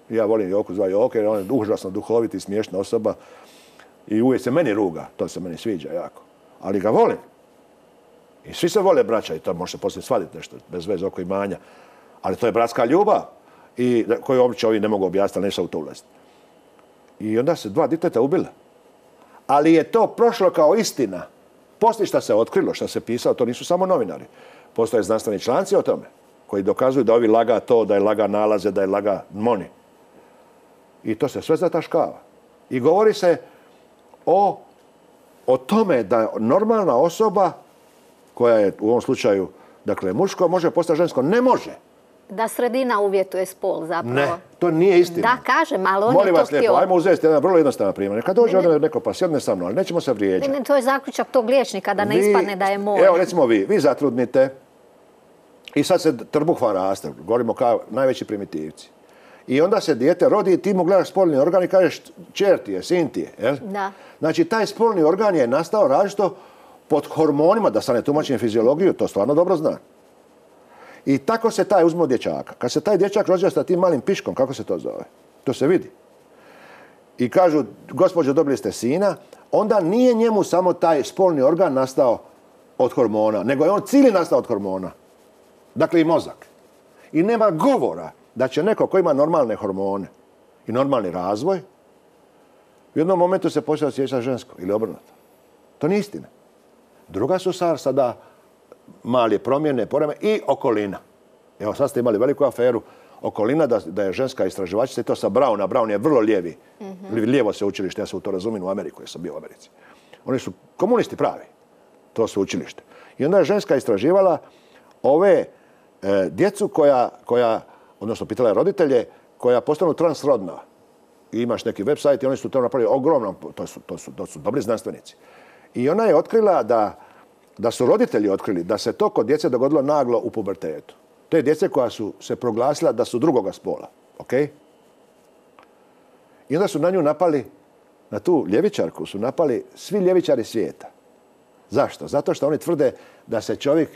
Ja volim Joku zva Joke, jer on je užasno duhovit i smiješna osoba. I uvijek se meni ruga, to se meni sviđa jako. Ali ga volim. I svi se vole braća i to može se poslije svaditi nešto, bez veze oko imanja. Ali to je bratska ljubav i koju obično ovi ne mogu objasniti, ali neće u to ulaziti. I onda se dva djeteta ubila. Ali je to prošlo kao istina. Poslije što se otkrilo, što se pisalo, to nisu samo novinari. Postoje znanstveni članci o tome, koji dokazuju da ovi laga to, da je laga nalaze, da je laga Money. I to se sve zataškava. I govori se o, o tome da normalna osoba, koja je u ovom slučaju, dakle, muško, može postati žensko. Ne može. Da sredina uvjetuje spol zapravo. Ne, to nije istina. Da, kažem, ali on Molim je to vas lijepo, htio. ajmo uzeti jedan vrlo jednostavan primjer. Kad dođe ovdje neko pa sjedne sa mnom, ali nećemo se vrijeđati. Ne, ne, to je zaključak tog liječnika, da ne vi, ispadne da je moj. Evo, recimo vi, vi zatrudnite i sad se trbuh vam raste, govorimo kao najveći primitivci. I onda se dijete rodi i ti mu gledaš spolni organ i kažeš čer ti je, sin ti je. Jel? Da. Znači, taj spolni organ je nastao različito pod hormonima, da sad ne tumačim fiziologiju, to stvarno dobro zna. I tako se taj uzme od dječaka. Kad se taj dječak rođa sa tim malim piškom, kako se to zove? To se vidi. I kažu, gospođo, dobili ste sina, onda nije njemu samo taj spolni organ nastao od hormona, nego je on cijeli nastao od hormona. Dakle, i mozak. I nema govora da će neko ko ima normalne hormone i normalni razvoj, u jednom momentu se počeo osjećati žensko ili obrnuto. To nije istina. Druga su sada male promjene, poreme i okolina. Evo, sad ste imali veliku aferu okolina da, da je ženska istraživačica i to sa Browna. Brown je vrlo lijevi. Mm-hmm. Lijevo se učilište, ja se u to razumijem u Ameriku, jer sam bio u Americi. Oni su komunisti pravi, to su učilište. I onda je ženska istraživala ove e, djecu koja, koja, odnosno pitala je roditelje, koja postanu transrodna. I imaš neki website i oni su to napravili ogromno, to su, to su, to su dobri znanstvenici. I ona je otkrila da da su roditelji otkrili da se to kod djece dogodilo naglo u pubertetu. To je djece koja su se proglasila da su drugoga spola. Okay? I onda su na nju napali, na tu ljevičarku su napali svi ljevičari svijeta. Zašto? Zato što oni tvrde da se čovjek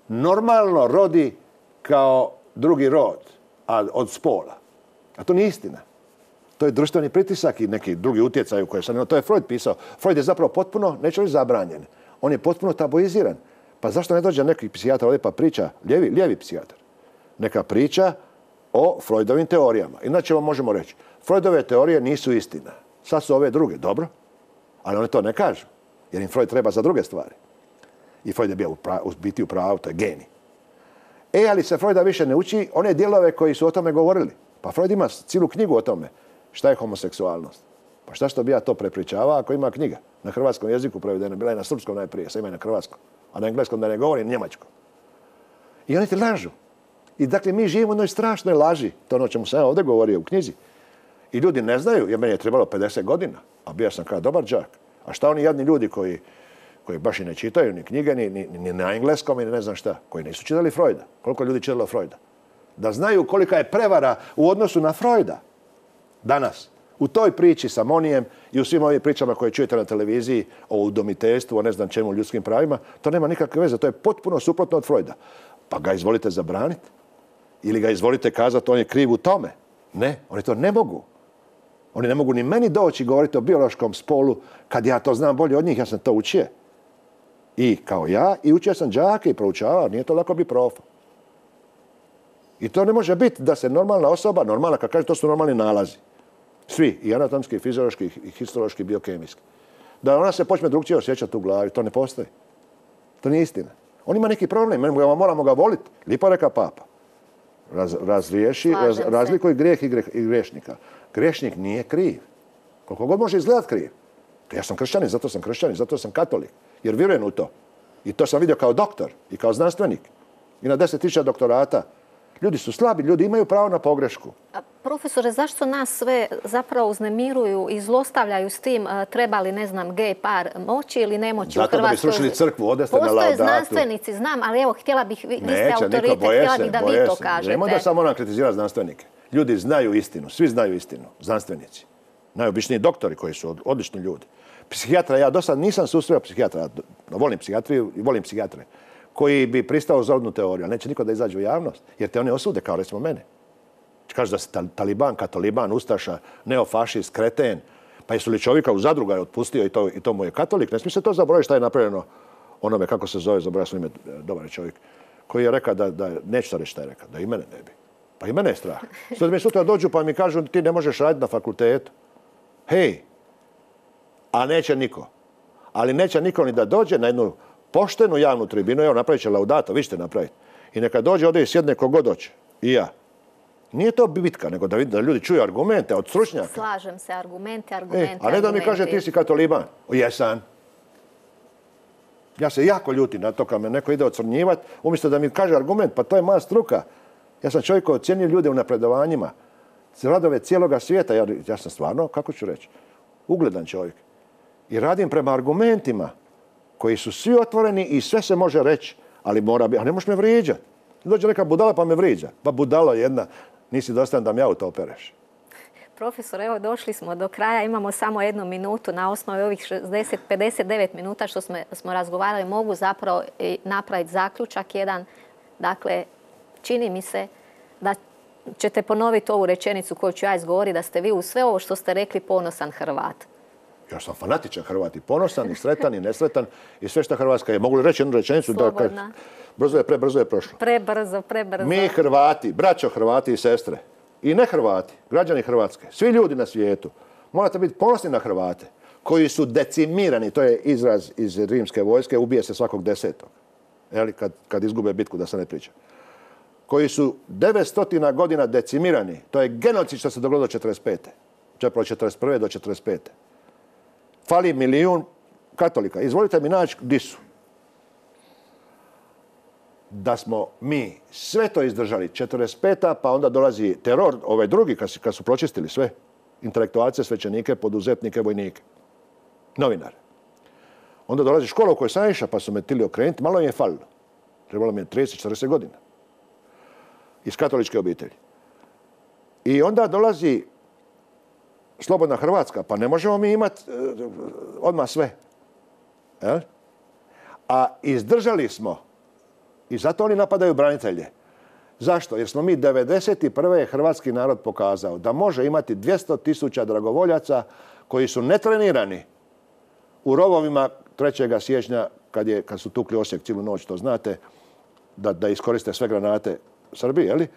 normalno rodi kao drugi rod, a od spola. A to nije istina. To je društveni pritisak i neki drugi utjecaj u koje sam... To je Freud pisao. Freud je zapravo potpuno, neću reći zabranjen. On je potpuno tabuiziran. Pa zašto ne dođe neki psihijatar ovdje pa priča, lijevi, lijevi psihijatar, neka priča o Freudovim teorijama. Inače vam možemo reći, Freudove teorije nisu istina. Sad su ove druge, dobro, ali oni to ne kažu, jer im Freud treba za druge stvari. I Freud je bio u, prav, u biti u pravu, to je genij. E, ali se Freuda više ne uči one dijelove koji su o tome govorili. Pa Freud ima cijelu knjigu o tome. Šta je homoseksualnost? Pa šta što bi ja to prepričavao ako ima knjiga? Na hrvatskom jeziku prevedena, bila je na srpskom najprije, sad ima i na hrvatskom. A na engleskom da ne govorim, njemačkom. I oni ti lažu. I dakle, mi živimo u jednoj strašnoj laži. To ono o čemu sam ja ovdje govorio u knjizi. I ljudi ne znaju, jer meni je trebalo pedeset godina, a bio sam kao dobar đak. A šta oni jadni ljudi koji, koji baš i ne čitaju ni knjige, ni, ni, ni na engleskom, ni ne znam šta, koji nisu čitali Freuda. Koliko ljudi čitalo Freuda? Da znaju kolika je prevara u odnosu na Freuda danas. U toj priči sa Monijem i u svim ovim pričama koje čujete na televiziji o udomiteljstvu, o ne znam čemu, ljudskim pravima, to nema nikakve veze. To je potpuno suprotno od Freuda. Pa ga izvolite zabraniti. Ili ga izvolite kazati on je kriv u tome. Ne, oni to ne mogu. Oni ne mogu ni meni doći govoriti o biološkom spolu kad ja to znam bolje od njih, ja sam to učio. I kao ja, i učio sam đake i proučavao, nije to lako biti profa. I to ne može biti da se normalna osoba, normalna, kad kaže to su normalni nalazi. Svi, i anatomski, i fiziološki, i histološki, i biokemijski. Da ona se počne drugčije osjećati u glavi, to ne postoji. To nije istina. On ima neki problem, moramo ga voliti. Lipo reka papa. Raz, razriješi, raz, razlikuj grijeh i, greh, i grešnika. Grešnik nije kriv. Koliko god može izgledati kriv. Ja sam kršćanin, zato sam kršćanin, zato sam katolik. Jer vjerujem u to. I to sam vidio kao doktor i kao znanstvenik. I na deset tisuća doktorata. Ljudi su slabi, ljudi imaju pravo na pogrešku. A, profesore, zašto nas sve zapravo uznemiruju i zlostavljaju s tim treba li, ne znam, gej par moći ili ne moći u Hrvatskoj? Zato da bi srušili crkvu, odeste na laudatu. Postoje znanstvenici, znam, ali evo, htjela bih, vi, vi ste autoritet, htjela bih da vi to kažete. Nemo da samo nam kritizira znanstvenike. Ljudi znaju istinu, svi znaju istinu, znanstvenici. Najobičniji doktori koji su odlični ljudi. Psihijatra, ja do sad nisam susreo psihijatra, volim psihijatriju i volim psihijatre, koji bi pristao za odnu teoriju, ali neće niko da izađe u javnost, jer te one osude, kao recimo mene. Kaže da se taliban, katoliban, ustaša, neofašist, kreten, pa jesu li čovjeka u zadruga je otpustio i to, i to mu je katolik, ne smije se to zaboraviti šta je napravljeno onome, kako se zove, zaboravio sam ime, dobar čovjek, koji je rekao da, da neću to reći šta je rekao, da i mene ne bi. Pa i mene je strah. Sad mi sutra dođu pa mi kažu ti ne možeš raditi na fakultetu. Hej, a neće niko. Ali neće niko ni da dođe na jednu poštenu javnu tribinu, evo napravit će laudato, vi ćete napraviti. I neka dođe ovdje i sjedne kogod doće. I ja. Nije to bitka, nego da, da ljudi čuju argumente od stručnjaka. Slažem se, argumente, argumente, e, A ne da mi kaže ti si katoliban. Jesam. Ja se jako ljutim na to kad me neko ide ocrnjivati, umjesto da mi kaže argument, pa to je moja struka. Ja sam čovjek koji ocjenjuje ljude u napredovanjima. Radove cijeloga svijeta. Ja, ja sam stvarno, kako ću reći, ugledan čovjek. I radim prema argumentima koji su svi otvoreni i sve se može reći, ali mora biti, a ne možeš me vrijeđati. Dođe neka budala pa me vrijeđa. Pa budalo jedna, nisi dostajan da mi auto opereš. Profesor, evo došli smo do kraja, imamo samo jednu minutu na osnovi ovih šezdeset, pedeset devet minuta što smo, smo razgovarali, mogu zapravo napraviti zaključak jedan. Dakle, čini mi se da ćete ponoviti ovu rečenicu koju ću ja izgovoriti, da ste vi u sve ovo što ste rekli ponosan Hrvat. Ja sam fanatičan Hrvat i ponosan i sretan i nesretan i sve što Hrvatska je. Mogu li reći jednu rečenicu? Slobodna. Da, brzo je, prebrzo je prošlo. Prebrzo, prebrzo. Mi Hrvati, braćo Hrvati i sestre, i ne Hrvati, građani Hrvatske, svi ljudi na svijetu, morate biti ponosni na Hrvate koji su decimirani, to je izraz iz rimske vojske, ubije se svakog desetog. Jeli, kad, kad izgube bitku, da se ne priča. Koji su devetsto godina decimirani, to je genocid što se dogodilo do četrdeset pete. Čepravo četrdeset prve do četrdeset pete. Fali milijun katolika. Izvolite mi naći di su. Da smo mi sve to izdržali, četrdeset peta pa onda dolazi teror, ovaj drugi, kad su, kad su pročistili sve, intelektualce, svećenike, poduzetnike, vojnike, novinare. Onda dolazi škola u kojoj sam išao, pa su me tili okrenuti, malo im je falilo. Trebalo mi je trideset četrdeset godina. Iz katoličke obitelji. I onda dolazi slobodna Hrvatska, pa ne možemo mi imati uh, odmah sve. E? A izdržali smo. I zato oni napadaju branitelje. Zašto? Jer smo mi devedeset prve hrvatski narod pokazao da može imati dvjesto tisuća dragovoljaca koji su netrenirani u rovovima trećeg siječnja kad, je, kad su tukli Osijek cijelu noć, to znate, da, da iskoriste sve granate Srbije, jeli?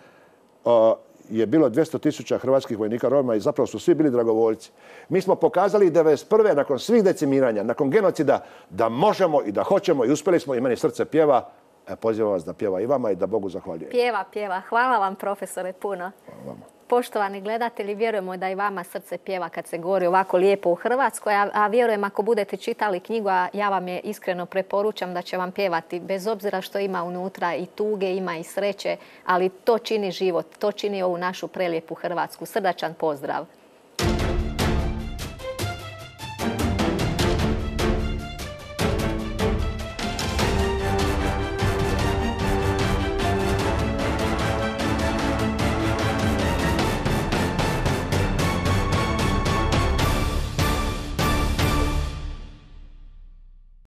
O, je bilo dvjesto tisuća hrvatskih vojnika Roma i zapravo su svi bili dragovoljci. Mi smo pokazali devedeset prve nakon svih decimiranja, nakon genocida, da možemo i da hoćemo i uspjeli smo i meni srce pjeva, Pozivam vas da pjeva i vama i da Bogu zahvaljujem. Pjeva, pjeva. Hvala vam, profesore, puno. Hvala vama. Poštovani gledatelji, vjerujemo da i vama srce pjeva kad se govori ovako lijepo u Hrvatskoj, a, a vjerujem ako budete čitali knjigu, a ja vam je iskreno preporučam da će vam pjevati, bez obzira što ima unutra i tuge, ima i sreće, ali to čini život, to čini ovu našu prelijepu Hrvatsku. Srdačan pozdrav!